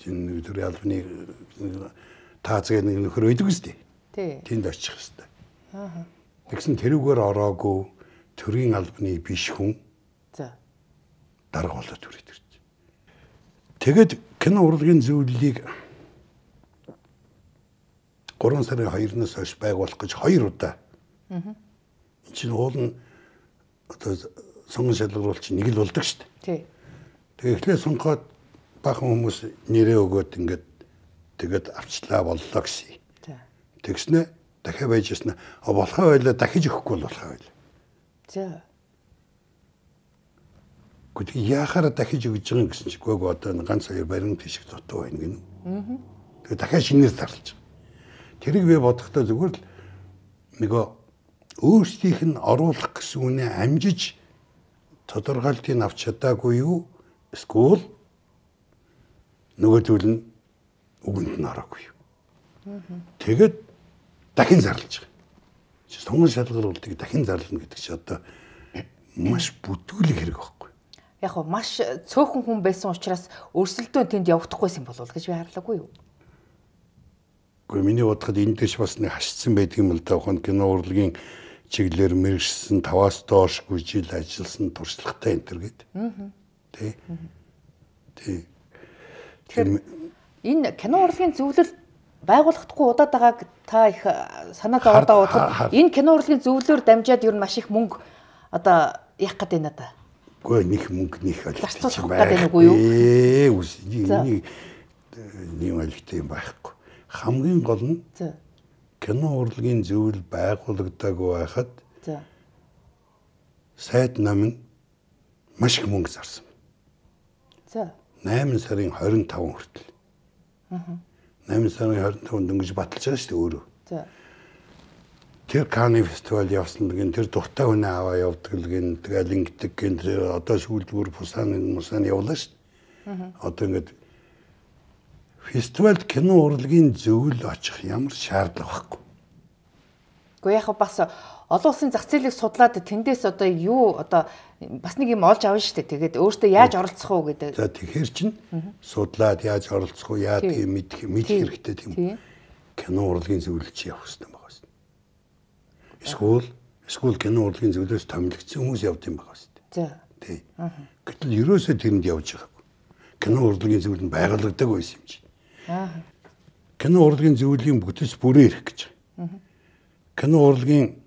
Чин төрийн албаны таацгаа нэг нөхөр өгдөг үстэй. Тий. Тэнд очих хэвээр. Аа. Тэгсэн тэрүүгээр ороогүй төрийн албаны биш хүн. За. Дарга болоод түрээд ирж. Тэгэд кино урлагийн зөвлөлийг гурван сарын хоёрнаас хойш байгуулах гэж хоёр удаа. Аа. Энд чинь уул нь одоо сонгон шалгаруулч нэг л болдог шүү дээ. Тий. Тэгээ эхлээ сонгоход бахан хүмүүс нэрээ өгөөд ингээд тэгээд авчлаа боллоо гэсэн. За. Тэгснэ дахиад байж яснаа болохоо байлаа дахиж өгөхгүй бол болохоо байлаа. За. Гэхдээ яахаараа дахиж өгж байгаа юм гэсэн чи гоо одоо ганц хоёр барин тишг дутуу байна гинэ. Аа. Тэгээ дахиад шинээр зарлаж байгаа. Тэрийг би бодохдоо зүгээр л нөгөө өөрсдийнх нь оруулах гэсэн үнэ амжиж тодорхойлтыг авч чадаагүй юу? Эсвэл нөгөө зүйл нь үгэнд нь ороогүй юу? Тэгээд дахин зарлаж байгаа. Сонгон шалгаруултыг дахин зарлана гэдэг чи одоо маш бүтүүлэг хэрэг байхгүй. Яг хөө маш цөөхөн хүн байсан учраас өрсөлдөөн тэнд явагдахгүйсэн болов гэж би харлаагүй юу? Гэхдээ миний бодоход энэ дэш бас нэг хашцсан байдаг юм л да. Ухаан кино урлагийн чиглэлээр мэрэгчсэн таваас доошгүй жил ажилласан туршлагатай энэ төр гээд. Аа. Тэ. Тэ. Тэгэхээр энэ кино урлагийн зөвлөл байгуулагдахгүй удаад байгааг та их санаа зовоодоо бодоход энэ кино урлагийн зөвлөлөөр дамжаад ер нь маш их мөнгө одоо яах гэдэг юм да. Гэхдээ нэг мөнгө нэг олигтой байна уу юу? Ээ үс нэг нэг олигтой юм байхгүй. Хамгийн гол нь кино урлагийн зөвлөл байгуулагдаагүй байхад сайд нам нь маш их мөнгө зарсан. За. найман сарын хорин таван хүртэл. Аа. найман сарын хорин таванд дөнгөж баталж байгаа шүү дээ өөрөө. За. Тэр Канны фестивал явсан гэн тэр дуртай хүнээ аваа явдаг л гэн тэгэл ингэдэг гэн тэр одоо сүүлдгээр Пусаны мусаны явлаа шүү дээ. Аа. Одоо ингэдэг фестивальд кино урлагийн зөвлөл очих ямар шаардлага байхгүй. Гэхдээ яг бас олон улсын зах зээлийг судлаад тэндээс одоо юу одоо бас нэг юм олж авна шүү дээ. Тэгээд өөртөө яаж оролцох уу гэдэг. За тэгэхээр чинь судлаад яаж оролцох уу, яа тийм мэдэх мэдэх хэрэгтэй тийм. Кино урлагийн зөвлөл чи явах хэрэгтэй байгаа шүү дээ. Эсвэл эсвэл кино урлагийн зөвлөлөөс томилогдсон хүмүүс явд юм байгаа шүү дээ. За. Тий. Гэтэл ерөөсөө тэрэнд явж байгаагүй. Кино урлагийн зөвлөл нь байгуулагдаагүй байсан юм чи. Аа. Кино урлагийн зөвлөлийн бүтэц бүрээ ирэх гэж. Аа. Кино урлагийн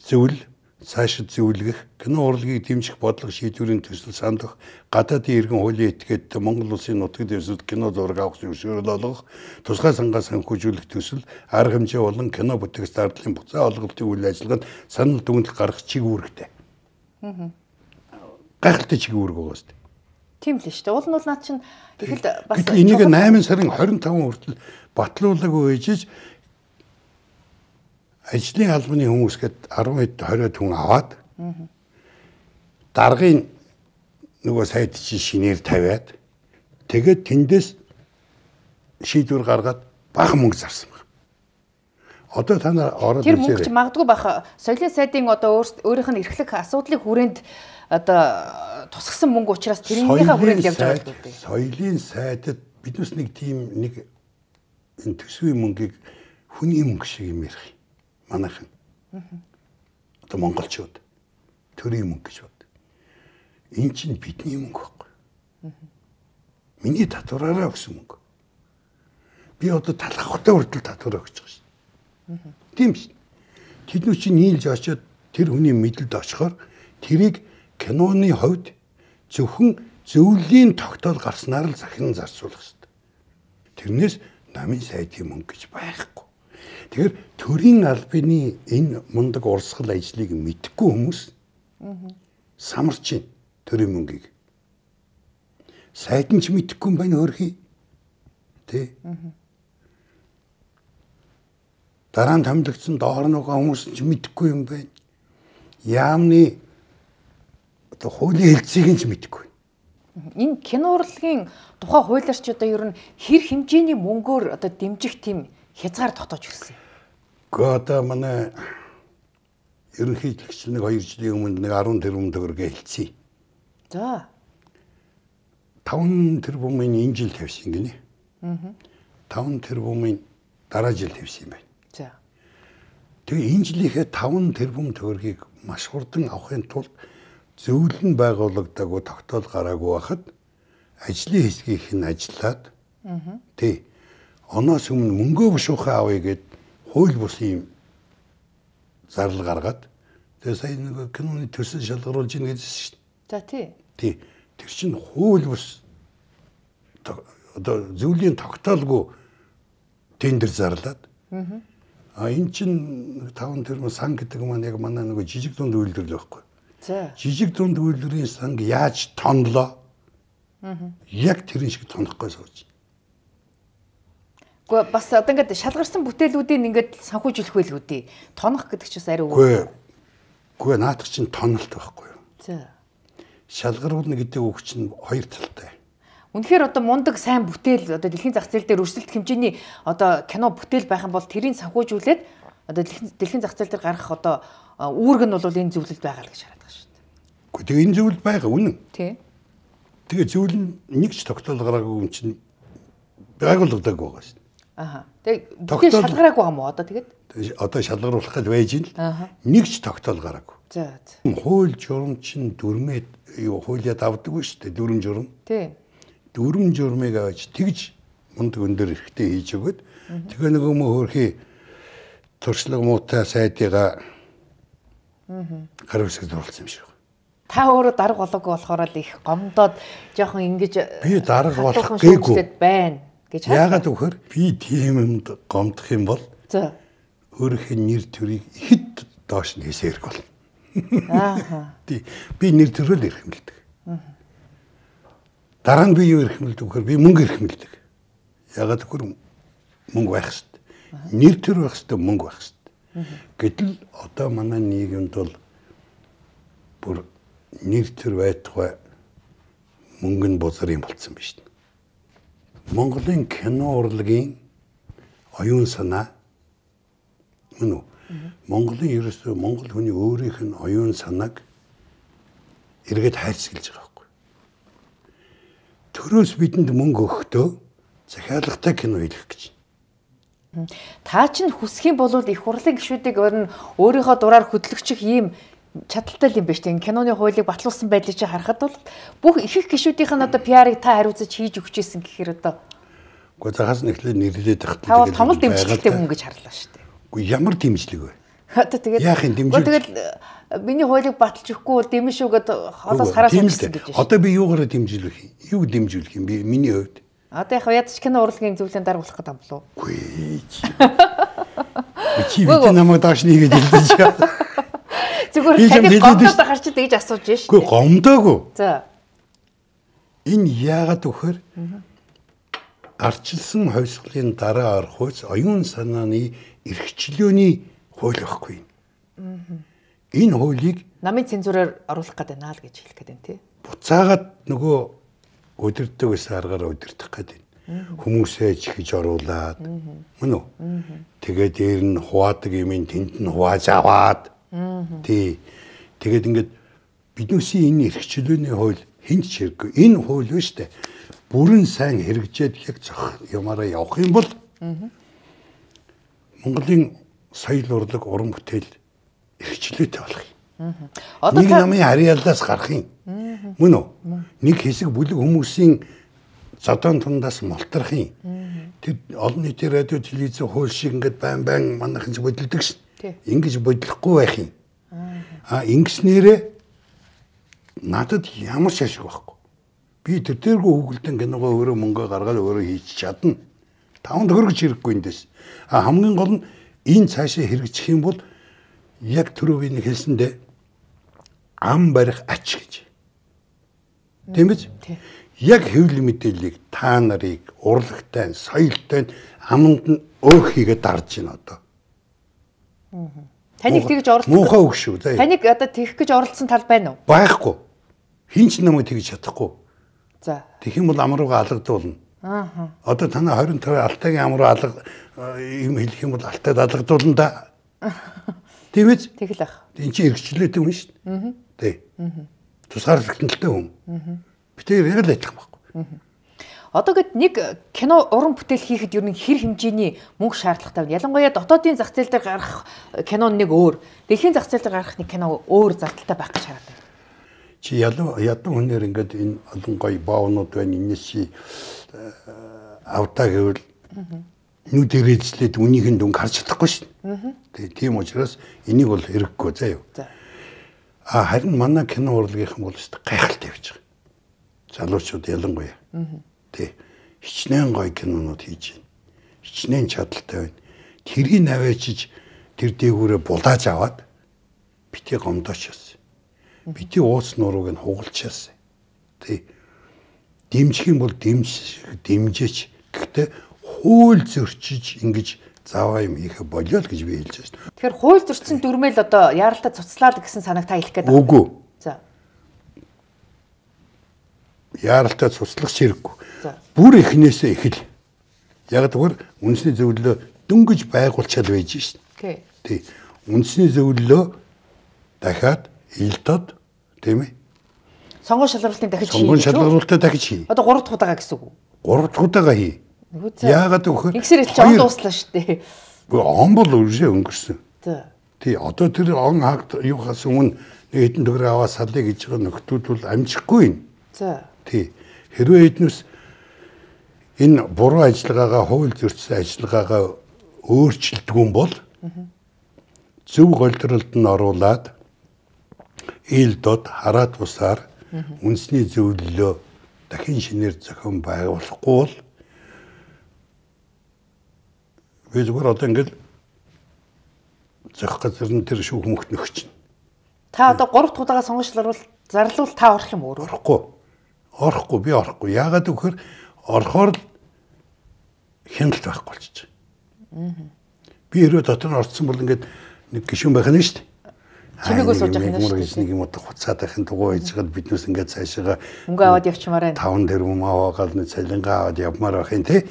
зөвлөл цаашид зөвлөгөх, кино урлагийг дэмжих бодлого шийдвэрийн төсөл сандах, гадаадын иргэн хуулийн этгээд Монгол улсын нутагт ерсөд кино зураг авах зөвшөөрөл олгох, тусгай сангаас санхүүжүүлэх төсөл, арга хэмжээ болон кино бүтээгч зардлын буцаа олголтын үйл ажиллагаанд санал дүгнэлт гаргах чиг үүрэгтэй. Аа. Гайхалтай чиг үүрэг байгаа шүү дээ. Тийм л шүү дээ. Уул нь бол наад чинь тэгэхэд бас энийг найман сарын хорин таван хүртэл батлуулаагүй ээжиж ажлын албаны хүмүүс гээд арван двадцать хүн аваад даргын нөгөө сайд чи шинээр тавиад тэгээд тэндээс шийдвэр гаргаад бага мөнгө зарсан байна. Одоо та нар ороод тэр мөнгө чи магадгүй баха соёлын сайдын одоо өөрийнх нь эрхлэх асуудлыг хүрээнд одоо тусгсан мөнгө учраас тэрнийхээ хүрээнд явж байгаа гэдэг. Соёлын сайдад биднес нэг тийм нэг энэ төсвийн мөнгийг хүний мөнгө шиг юм ярих. Манайхан. Одоо монголчууд төрийн мөнгө гэж бод. Энэ чинь бидний мөнгө байхгүй. Миний татвараараа өгсөн мөнгө. Би одоо талхахтай хүртэл татвараа өгч байгаа шүү. Тийм шүү. Тэднүү чинь нийлж очиод тэр хүний мэдлэлд очихоор тэрийг киноны хувьд зөвхөн зөвлөлийн тогтоол гарснаар л захин зарцуулах шүү. Тэрнээс намын сайдын мөнгө гэж байхгүй. Тэгэхээр төрийн албаны энэ мундаг урсгал ажлыг мэдхгүй хүмүүс самарч байна төрийн мөнгийг. Сайд нь ч мэдхгүй юм байна хөрхий. Тэ? Дараа нь томилогдсон доор нөгөө хүмүүс ч мэдхгүй юм байна. Яамны одоо хуулийн хэлцээг нь ч мэдхгүй. Энэ кино урлагийн тухай хуулиарч одоо ер нь хэр хэмжээний мөнгөөр одоо дэмжих тийм хязгаар тогтоож ирсэн. Гэхдээ одоо манай ерөнхийлөгч нэг хоёр жилийн өмнө нэг арван тэрбум төгрөг хэлцээ. За. таван тэрбумын энэ жил тавьсан гинэ. Аа. таван тэрбумын дараа жил тавьсан юм байна. За. Тэгээ энэ жилийнхээ таван тэрбум төгрөгийг маш хурдан авахын тулд зөвлөл нь байгуулагдаагүй тогтоол гараагүй байхад ажлын хэсгийнх нь ажиллаад аа. Тий. Оноос өмнө мөнгөө бушуухаа авъя гэд хууль бус юм зарлал гаргаад тэгээ сая нэг киноны төсөл шалгаруулж ийн гэсэн шүү дээ. За тий. Тий. Тэр чинь хууль бус одоо зөвлөлийн тогтоолгүй тендер зарлаад А эн чин таван тэрмэн сан гэдэг маань яг манай нөгөө жижиг дунд үйлдвэрлэл байхгүй. За. Жижиг дунд үйлдвэрийн санг яаж тонлоо? Аа. Яг тэрэн шиг тонохгүй сууж. Гэхдээ бас одоо ингээд шалгарсан бүтээлүүдийг ингээд санхүүжүүлэх байлгүй дээ. Тонох гэдэг чинь арай үгүй. Үгүй наадах чинь тоналт байхгүй юу? За. Шалгаруулна гэдэг үг чинь хоёр талтай. Үнэхээр одоо мундаг сайн бүтээл одоо дэлхийн зах зээл дээр өрсөлдөх хэмжээний одоо кино бүтээл байх юм бол тэрийг санхүүжүүлээд одоо дэлхийн зах зээл дээр гарах одоо үүрэг нь бол энэ зөвлөлд байгаа л гэж хараад байгаа шүү дээ. Гэхдээ тэгээ энэ зөвлөл байгаа үнэн. Тий. Тэгээ зөвлөл нь нэг ч тогтоол гараагүй юм чинь байгууллагадаг байгаа шүү дээ. Аха. Тэгээ бүтээл шалгараагүй юм уу одоо тэгээд? Одоо шалгаруулах гэж байж ин л нэг ч тогтоол гараагүй. За. Хууль журам чинь дүрмээ юу хуулиад авдаг шүү дээ дүрм журам. Тий. Дүрм журмыг авч тэгж мундаг өндөр эрхтэй хийж өгöd тэгээ нөгөө мө хөрхий туршлага муутай сайдыгаа гар үсгэд оруулсан юм шиг. Та өөрөө дарга болоогүй болохоор л их гомдоод жоохон ингэж би дарга болох гээгүй байна гэж яагаад вөхөр би тийм юмд гомдох юм бол за өөрийнхөө нэр төрийг ихэд доош нь хийсэрэг бол. Аа. Би нэр төрөөл эрхэмлдэг. Дараа нь би юу эрхэмлдэг вөхөр би мөнгө эрхэмлдэг. Яагаад вөхөр мөнгө байх хэрэгтэй. Нэр төр байх хэрэгтэй, мөнгө байх хэрэгтэй. Гэтэл одоо манай нийгэмд бол бүр нэр төр байтугай мөнгө нь бузар юм болцсон биз дээ. Монголын кино урлагийн оюун санаа мөн үү? Монголын ерөөсөө монгол хүний өөрийнх нь оюун санааг эргээд хайрцагилж байгаа байхгүй. Төрөөс бидэнд мөнгө өгөхдөө захиалагтай кино хийх гэж. Та чинь хүсэх юм бол их хурлын гишүүдийг өөрийнхөө дураар хөтлөгчих ийм чадaltaй юм байна шүү дээ. Киноны хуулийг батлуулсан байдлыг чи харахад бол бүх их их гишүүдийнх нь одоо пиарыг та хариуцаж хийж өгч ийсэн гэхээр одоо үгүй загаас нэхлээ нэрлээд тахт та бол томол дэмжлэгтэй хүн гэж харлаа шүү дээ. Үгүй ямар дэмжлэг вэ? Одоо тэгээд яах юм дэмжлэг? Тэгэл миний хуулийг баталж өгөхгүй дэмэн шүүгээд холоос хараа суулсан гэж байна. Одоо би юугаараа дэмжүүлэх юм? Юу дэмжүүлэх юм би миний хувьд? Одоо яг ядч кино урлагийн зөвлөлийн даргуулах гэдэг юм болов уу? Үгүй. Чи бид намайг дааш нэгээд хэлдэж чаа. Зүгээр таныг гомдоод гарч идэж асууж байна шүү. Үгүй гомдоогүй. За. Энэ яагаад вөхөр арчилсан хувьсгалын дараа орох үс оюун санааны эрхчлөөний хууль байхгүй. Энэ хуулийг намын цензураар оруулах гэдэг наа л гэж хэлэх гээд байна тий. Буцаагаад нөгөө өдөрдөг гэсэн аргаар өдөрдөх гэдэг. Хүмүүсээ чихэж оруулаад мөн үү? Тэгээд дээр нь хуваадаг юм тэнд нь хувааж аваад тий. Тэгээд ингээд биднээсийн энэ эрхчлөөний хууль хинт ч хэрэггүй. Энэ хууль биш үү? Бүрэн сайн хэрэгжээд яг зөх юмараа явах юм бол Монголын соёл урлаг уран бүтээл эрхчлөөтэй болох юм. Одоо нэг намын харьяалаас гарах юм. Мөн үү? Нэг хэсэг бүлэг хүмүүсийн зодон тундаас мултрах юм. Тэр олон нийтийн радио телевизэн хууль шиг ингээд байн байн манайхан ч бодилдог шин. Ингэж бодлохгүй байх юм. А ингэснээрээ надад ямар ч ашиг байхгүй. Би тэр тэргүй хөглдэн киногоо өөрөө мөнгө гаргаад өөрөө хийж чадна. Таван төгрөг хэрэггүй эндээс. А хамгийн гол нь энэ цаашаа хэрэгжих юм бол яг түрүү би хэлсэндээ ам барих ач гэж. Тийм биз? Яг хэвлэл мэдээллийг та нарыг урлагтай, соёлтой аманд нь өөх хийгээд дарж байна одоо. Таныг тэгж оролцох. Муухай үг шүү. Таныг одоо тэгэх гэж оролцсон тал байна уу? Байхгүй. Хинч намайг тэгж чадахгүй. За. Тэгэх юм бол ам руугаа алгадуулна. Аа. Одоо танаа хорин тавь алтайгийн ам руу алга юм хэлэх юм бол алтайд алгадуулна да. Тийм биз? Тэгэл ах. Энд чинь эргчлээтэй хүн шүү дээ. Аа. Тий. Аа. Тусгаарлалттай хүн. Аа. Би тэр яг л ажиллах байхгүй. Аа. Одоо гэд нэг кино уран бүтээл хийхэд ер нь хэр хэмжээний мөнгө шаардлагатай вэ? Ялангуяа дотоодын зах зээл дээр гарах кино нэг өөр, дэлхийн зах зээл дээр гарах нэг кино өөр зардалтай байх гэж хараад байна. Чи ялан ядан хүнээр ингээд энэ олон гоё боонууд байна. Энэс чи авдаа гэвэл нүд ирээжлээд үнийхэн дүнг харж чадахгүй шин. Тэгээ тийм учраас энийг бол хэрэггүй заа юу. А харин манай кино урлагийнхан бол өст гайхалтай явж байгаа. Залуучууд ялангуяа. Тэ хичнээн гоё кинонууд хийж байна. Хичнээн чадaltaй байна. тэрийг наваачиж тэр дээгүүрээ булааж аваад бити гомдоочоос. Бити уус нурууг нь хугалчаас. Тэ дэмжих юм бол дэмж дэмжээч. Гэхдээ хууль зөрчиж ингэж зааваа юм хийх болио л гэж би хэлж байна. Тэгэхээр хууль зөрчсөн дүрмэл одоо яаралтай цуцлаад гэсэн санааг та хэлэх гээд байна. Үгүй. За. Яаралтай цуцлах хэрэггүй. Бүр эхнээсээ эхэл. Яг тэгвэр үндэсний зөвлөлөө дөнгөж байгуулчаал байж шин. Тий. Үндэсний зөвлөлөө дахиад илдод тийм ээ. Сонгон шалралтын дахиж хий. Сонгон шалралтаа дахиж хий. Одоо гурав дахь удаага гэсэн үг үү? гурав дахь удаага хий. Яагаад гэвэл ингэсэр чи он дууслаа шүү дээ. Он бол үржээ өнгөрсөн. Тий. Одоо тэр он хагд юухаас өмнө нэг хэдэн төгрөг аваад салъя гэж байгаа нөхдүүд бол амжихгүй юм. За. Тий. Хэрвээ эднээс энэ буруу ажиллагаагаа хууль зөрчсөн ажиллагаагаа өөрчилдгүй бол зөв голдролд нь оруулаад илдод хараат бусаар үндэсний зөвлөлөө дахин шинээр зохион байгуулахгүй бол би зүгээр одоо ингээд зөх газар нь тэр шүүх мөхт нөхч. Та одоо гурав дахь удаага сонгон шалралт зарлуул та орох юм уу? Орохгүй. Орохгүй би орохгүй. Яагаад гэвэл орохоор л хяналт байхгүй болчих. Би хэрвээ дотор нь орцсон бол ингээд нэг гишүүн байх нь шүү дээ. Чимээгөө сууж явах юм шүү дээ. Нэг юм удаа хуцаад байхын дугуй хийжгаад биднээс ингээд цаашаага мөнгө аваад явчмаар байна. таван тэрбум аваад нэг цалингаа аваад явмаар байх юм тий.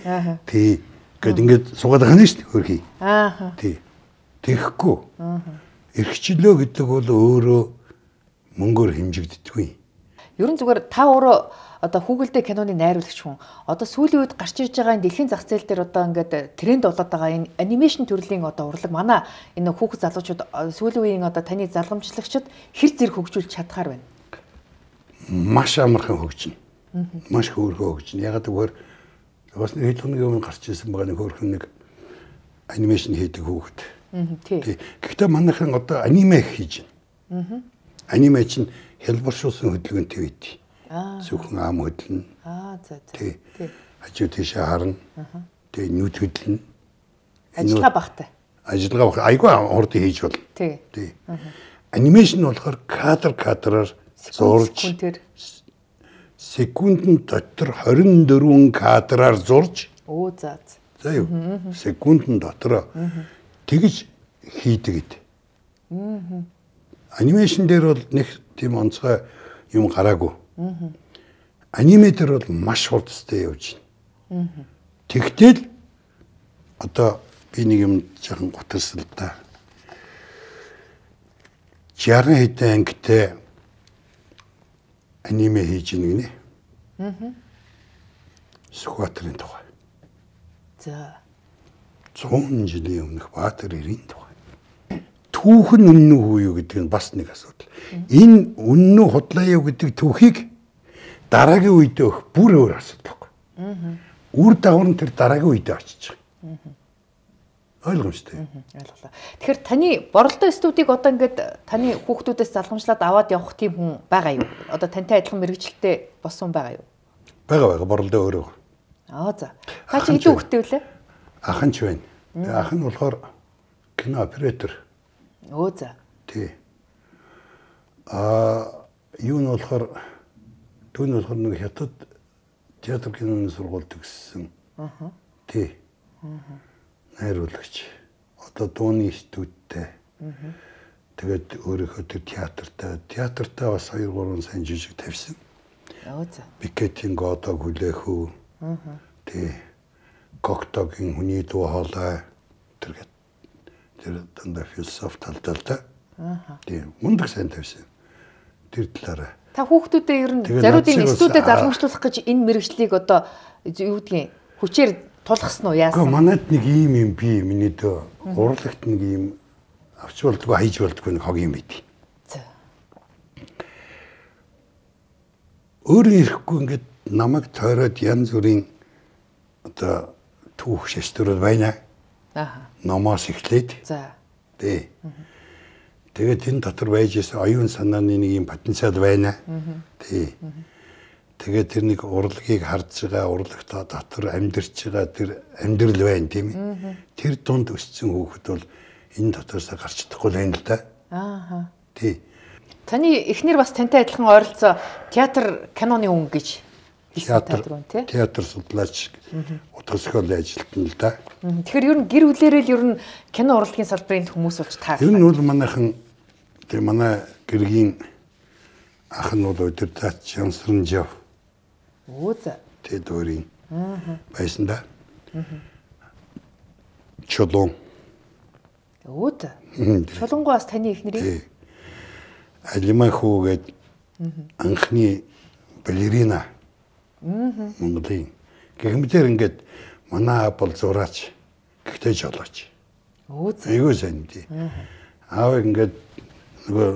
Тий. Гэт ингээд суугаад байх нь шүү дээ хөрхий. Аа. Тий. Тэгэхгүй. Аа. Эрхчлөө гэдэг бол өөрөө мөнгөөр хэмжигддэггүй. Ерөн зүгээр та өөрөө одоо Хүүгэлдээ киноны найруулагч хүн одоо сүүлийн үед гарч ирж байгаа энэ дэлхийн зах зээл дээр одоо ингээд тренд болоод байгаа энэ анимашн төрлийн одоо урлаг манай энэ хүүхэд залуучууд сүүлийн үеийн одоо таны залгамжлагчид хэр зэрэг хөгжүүлж чадхаар байна. Маш амархан хөгжинэ. Маш хөөрхөн хөгжинэ. Ягаад гэвэл бас нэг хэд хоногийн өмнө гарч ирсэн байгаа нэг хөөрхөн нэг анимашн хийдэг хүүхэд. Тий. Гэхдээ манайхан одоо аниме хийж байна. Аниме чинь хэлбэршүүлсэн хөдөлгөөнтэй үйд. Зөвхөн ам хөдлөн. Аа за за. Тий. Хажуу тийшээ харна. Тэгээ нүд хөдлөн. Ажиллагаа багтай. Ажиллагаа баг. Айгүй хурд хийж болно. Тий. Тий. Анимашн болохоор кадр кадраар зурж секундын дотор хорин дөрвөн кадраар зурж. Оо за. За юу. Секундын дотор тэгж хийдэг гэд. Анимашн дээр бол нэг тийм онцгой юм гараагүй. Аниме дээр бол маш хурдтай явж байна. Тэгтэл одоо би нэг юм жоохон гутарсан л да. жарган хэдэн ангитай аниме хийж ийн гинэ. Аа. Сүхбаатарын тухай. За. зуун жилийн өмнөх Баатар эрийн тухай. Түүхэн үнэн үү юу гэдэг нь бас нэг асуудал. Энэ үнэн үү худлаа юу гэдэг түүхийг дараагийн үед өгөх бүр өөр асуудал байхгүй. Үр дагавар нь тэр дараагийн үед очиж байгаа. Ойлгомжтой. Ойлголоо. Тэгэхээр таны боролдоо студийг одоо ингээд таны хүүхдүүдээс залгамжлаад аваад явах тийм хүн байгаа юу? Одоо тантай адилхан мэрэгчлэлтэй болсон байгаа юу? Бага бага боролдоо өөрөө. Аа за. Та чи хэдэн хүүхдтэй вүлээ? Ах нь ч байна. Ах нь болохоор кино оператор. Оо за. Тий. Аа юу нь болохоор түүний болохоор нэг хятад театр киноны сургууль төгссөн. Аа. Тий. Аа. Найруулагч. Одоо дууны студиудтэй. Аа. Тэгээд өөрийнхөө тэр театртай, театртай бас хоёр гурван сайн жижиг тавьсан. Аа за. Бикетийн годог хүлээх үү. Аа. Тий. Коктогийн хүний дуу хоолой тэргээд тэр дандаа философи талдалтай. Аа. Тий. Мундаг сайн тавьсан. Тэр талаараа. Та хүүхдүүдэд ер нь зариудын студиуд залгамжлуулах гэж энэ мэрэгчлийг одоо юу гэдгийг хүчээр тулгасан уу яасан? Гэхдээ манайд нэг ийм юм би миний дөө урлагт нэг ийм авч болдгоо хайж болдгоо нэг хог юм байд. За. Өөрөө ирэхгүй ингээд намайг тойроод янз бүрийн одоо түүх шаштрууд байна. Аа. Номоос эхлээд. За. Тий. Тэгээд энэ дотор байж исэн оюун санааны нэг юм потенциал байна. Тий. Тэгээд тэр нэг урлагийг харж байгаа, урлагтаа дотор амьдарч байгаа тэр амьдрал байна тийм ээ. Тэр дунд өссөн хүүхэд бол энэ дотроос гарч чадахгүй л юм л да. Аа. Тий. Таны эхнэр бас тантай адилхан ойролцоо театр киноны өнгө гэж театр театр судлаач утгаскол ажилтна л да. Тэгэхээр ер нь гэр бүлээрээ л ер нь кино урлагийн салбарын хүмүүс болж таарсан. Ер нь бол манайхан тэг манай гэргийн ах нь бол удирдаач Янсранжав. Оо за. Тэг дөрийн. Байсан да. Чулуун. Оо за. Чулуунгоо бас таны эхнэрийн. Алиман хүүгээд анхны балерина. Монголын гэмтэр ингээд манай аав бол зураач гэхдээ жолооч. Оо за. Айгуу сайн тий. Аав ингээд нөгөө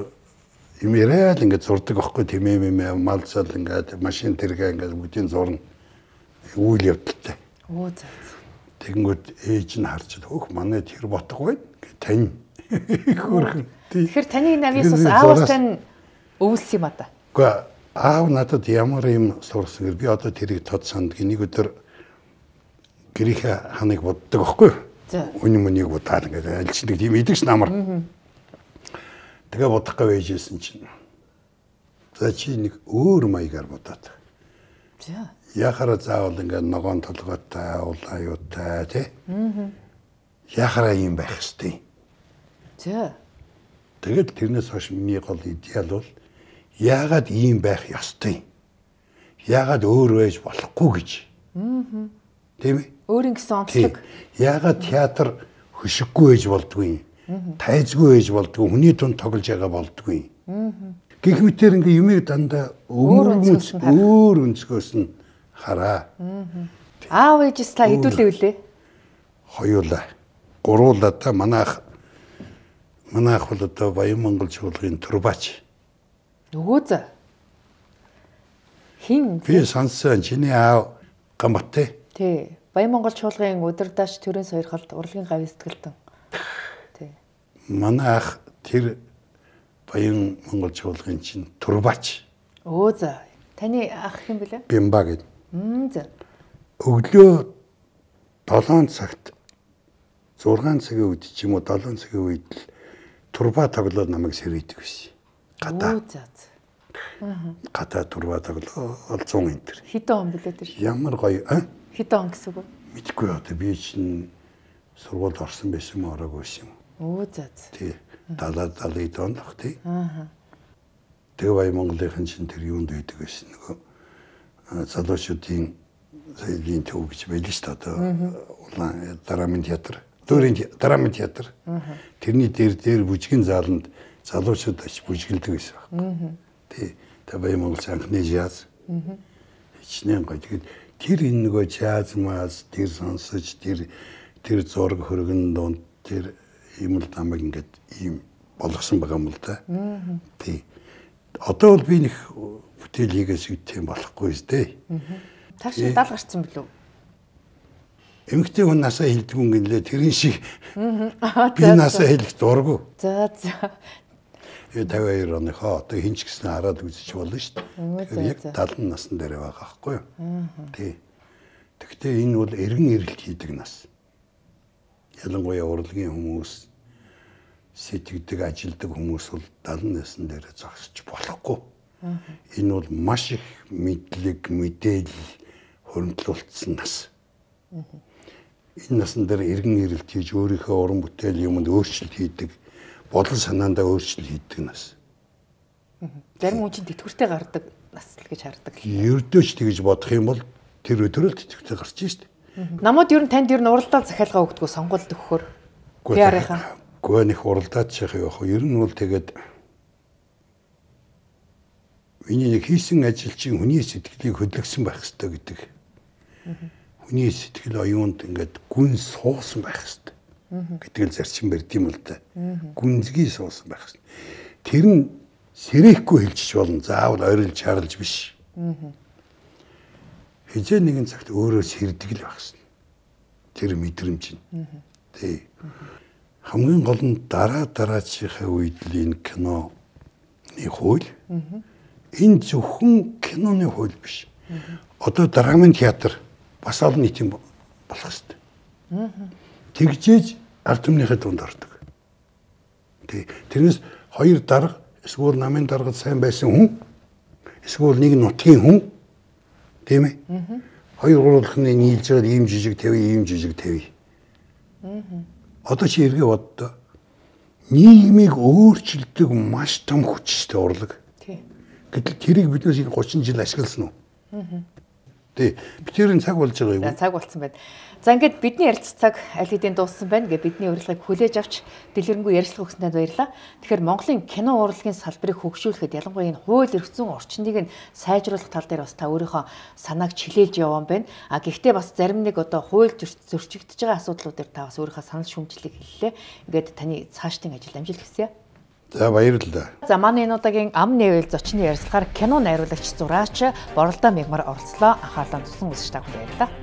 юм яриад ингээд зурдаг байхгүй тийм юм малцал ингээд машин тэргээ ингээд бүгдийн зурна. Үйл явдалтай. Оо за. Тэгэнгүүт ээж нь харж хөөх манай тэр ботго байна. Тань. Хөрхөн. Тэгэхээр таны навьяас бас аавс тань өвлс юм а та. Гэхдээ аав надад ямар юм сурсан гэр би одоо тэрийг тод санд нэг өдөр гэрийнхээ ханыг боддог байхгүй юу? Үний мөнийг удаад ингээд альчдаг тийм идэгч намар. Тэгээ бодох гэвэжсэн чинь. За чи нэг өөр маягаар бодоод. За. Яхара заавал ингээд ногоон толгойтой, улаан аюутай тий. Яхара юм байх хэвчтэй. За. Тэгэл тэрнээс хойш миний гол идеал бол яагаад ийм байх ёстой? Яагаад өөр байж болохгүй гэж. Аа. Тийм ээ? Өөрийн гэсэн онцлог. Яагаад театр хөшиггүй байж болдгүй? Тайзгүй байж болдгүй, хүний дунд тоглож байгаа болдгүй. Аа. Гэх мэтэр ингээ юмыг дандаа өөр өөр өнцгөөс нь хараа. Аа. Аав ээжс та хэдүүлээ үлээ? Хоёулаа. Гуруулаа та манайх манайх бол одоо Баян Монгол чуулгын турбач. Өө за. Хин би сонссон чиний аав Гамбаттай. Тий. Баян Монгол чуулгын удирдаач төрийн сойрхолд урлагийн гавь сэтгэлтэн. Тий. Манай ах тэр Баян Монгол чуулгын чинь турбач. Өө за. Таны ах юм бэлээ? Бимба гэдэг. Мм за. Өглөө долоон цагт зургаан цагийн үед ч юм уу долоон цагийн үед л турба тоглоод намайг сэрийдэг байсан. Гадаа. Өө за. Аа. Гадаа турба тоглоо цун энтер. Хэдэн он бэлээ тэр? Ямар гоё а? Хэдэн он гэсэн үг? Мэдгүй одоо би чинь сургуульд орсон байсан юм ороог байсан юм. Өө за. Тий. Далаа далын донд ах тий. Аа. Тэгээ Баян Монголын чинь тэр юунд байдаг байсан нөгөө залуучуудын соёлын төв гэж байл шүү дээ одоо улаан драмын театр. Дөрийн драмын театр. Тэрний дээр дээр бүжгийн зааланд залуучууд аж бүжгэлдэг байсан байна. Тий. Тэ Баян Монгол анхны жаз. Хичнээн гоё. Тэгээд тэр энэ нөгөө жаз маас тэр сонсож тэр тэр зураг хөргөн донд тэр юм л намайг ингээд ийм болгосон байгаа юм л да. Тий. Одоо бол би нэг бүтээл хийгээс үтэн болохгүй зү. Та шиг дал гарцсан билүү? Эмэгтэй хүн насаа хилдэггүй гинлээ тэрэн шиг би насаа хэлэх дурггүй. За за. Э тавиа хоёр оныхоо одоо хинч гэсэн хараад үзэж болно шүү дээ. Тэгэхээр яг талан насн дээр байгаа байхгүй юу? Тий. Тэгвэл энэ бол эргэн ирэлт хийдэг нас. Ялангуяа урлагийн хүмүүс сэтгэдэг, ажилдаг хүмүүс бол талан насн дээр зогсож болохгүй. Энэ бол маш их мэдлэг, мэдээлэл хөрөнгөлүүлсэн нас. Энэ насн дээр эргэн ирэлт хийж өөрийнхөө уран бүтээл юмд өөрчлөлт хийдэг, бодол санаандаа өөрчлөлт хийдэг нас. Зарим хүн чинь тэтгэвртэй гардаг нас л гэж хардаг. Ердөөч тэгж бодох юм бол тэр өдрөө л тэтгэвртэй гарч шít. Намууд ер нь танд ер нь уралдаан захиалга өгдөг сонгуульд өгөхөөр. Пиарынхаа. Гоо нэг уралдаад шах явах. Ер нь бол тэгээд миний нэг хийсэн ажил чинь хүний сэтгэлийг хөдөлгсөн байх хэрэгтэй гэдэг. Хүний сэтгэл оюунд ингээд гүн суусан байх хэрэгтэй гэдэг л зарчим барьд юм л да. Гүнзгий суусан байх хэрэгтэй. Тэр нь сэрэхгүй хэлчих болно. Заавал ойрлж чарлж биш. Хизээ нэгэн цагт өөрөө сэрдэг л байх хэрэгтэй. Тэр мэдрэмж нь. Тий. Хамгийн гол нь дараа дараачихаа үед л энэ киноны хууль. Энэ зөвхөн киноны хууль биш. Одоо драмын театр бас олон нийтийн болох хэрэгтэй. Тэгжээж ард түмнийхээ дунд ордог. Тэг. Тэрнээс хоёр дарга эсвэл намын даргад сайн байсан хүн эсвэл нэг нутгийн хүн тийм ээ. Хоёр гурвалхны нийлж байгаа ийм жижиг тавь, ийм жижиг тавь. Одоо чи эргээ боддоо нийгмийг өөрчилдөг маш том хүчтэй урлаг. Гэтэл тэрийг биднээс энэ гучин жил ашигласан уу? Тий. Битэрийн цаг болж байгаа юу? Цаг болсон байна. За ингээд бидний ярилццаг аль хэдийн дууссан байна. Ингээд бидний урилгыг хүлээж авч дэлгэрэнгүй ярилцлага өгсөнд баярлалаа. Тэгэхээр Монголын кино урлагийн салбарыг хөгжүүлэхэд ялангуяа энэ хууль эрх зүйн орчныг нь сайжруулах тал дээр бас та өөрийнхөө санааг чилээлж явсан байна. А гэхдээ бас зарим нэг одоо хууль зөрчигдөж байгаа асуудлуудаар та бас өөрийнхөө санал шүүмжлэлийг хэллээ. Ингээд таны цаашдын ажил амжилт хүсье. За баярлалаа. За манай энэ удаагийн ам нэвэл зочны ярилцлагаар кино найруулагч зураач Боролдоо Мягмар оролцлоо. Анхаарлаа тусан үзэж та бүхэнд баярлалаа.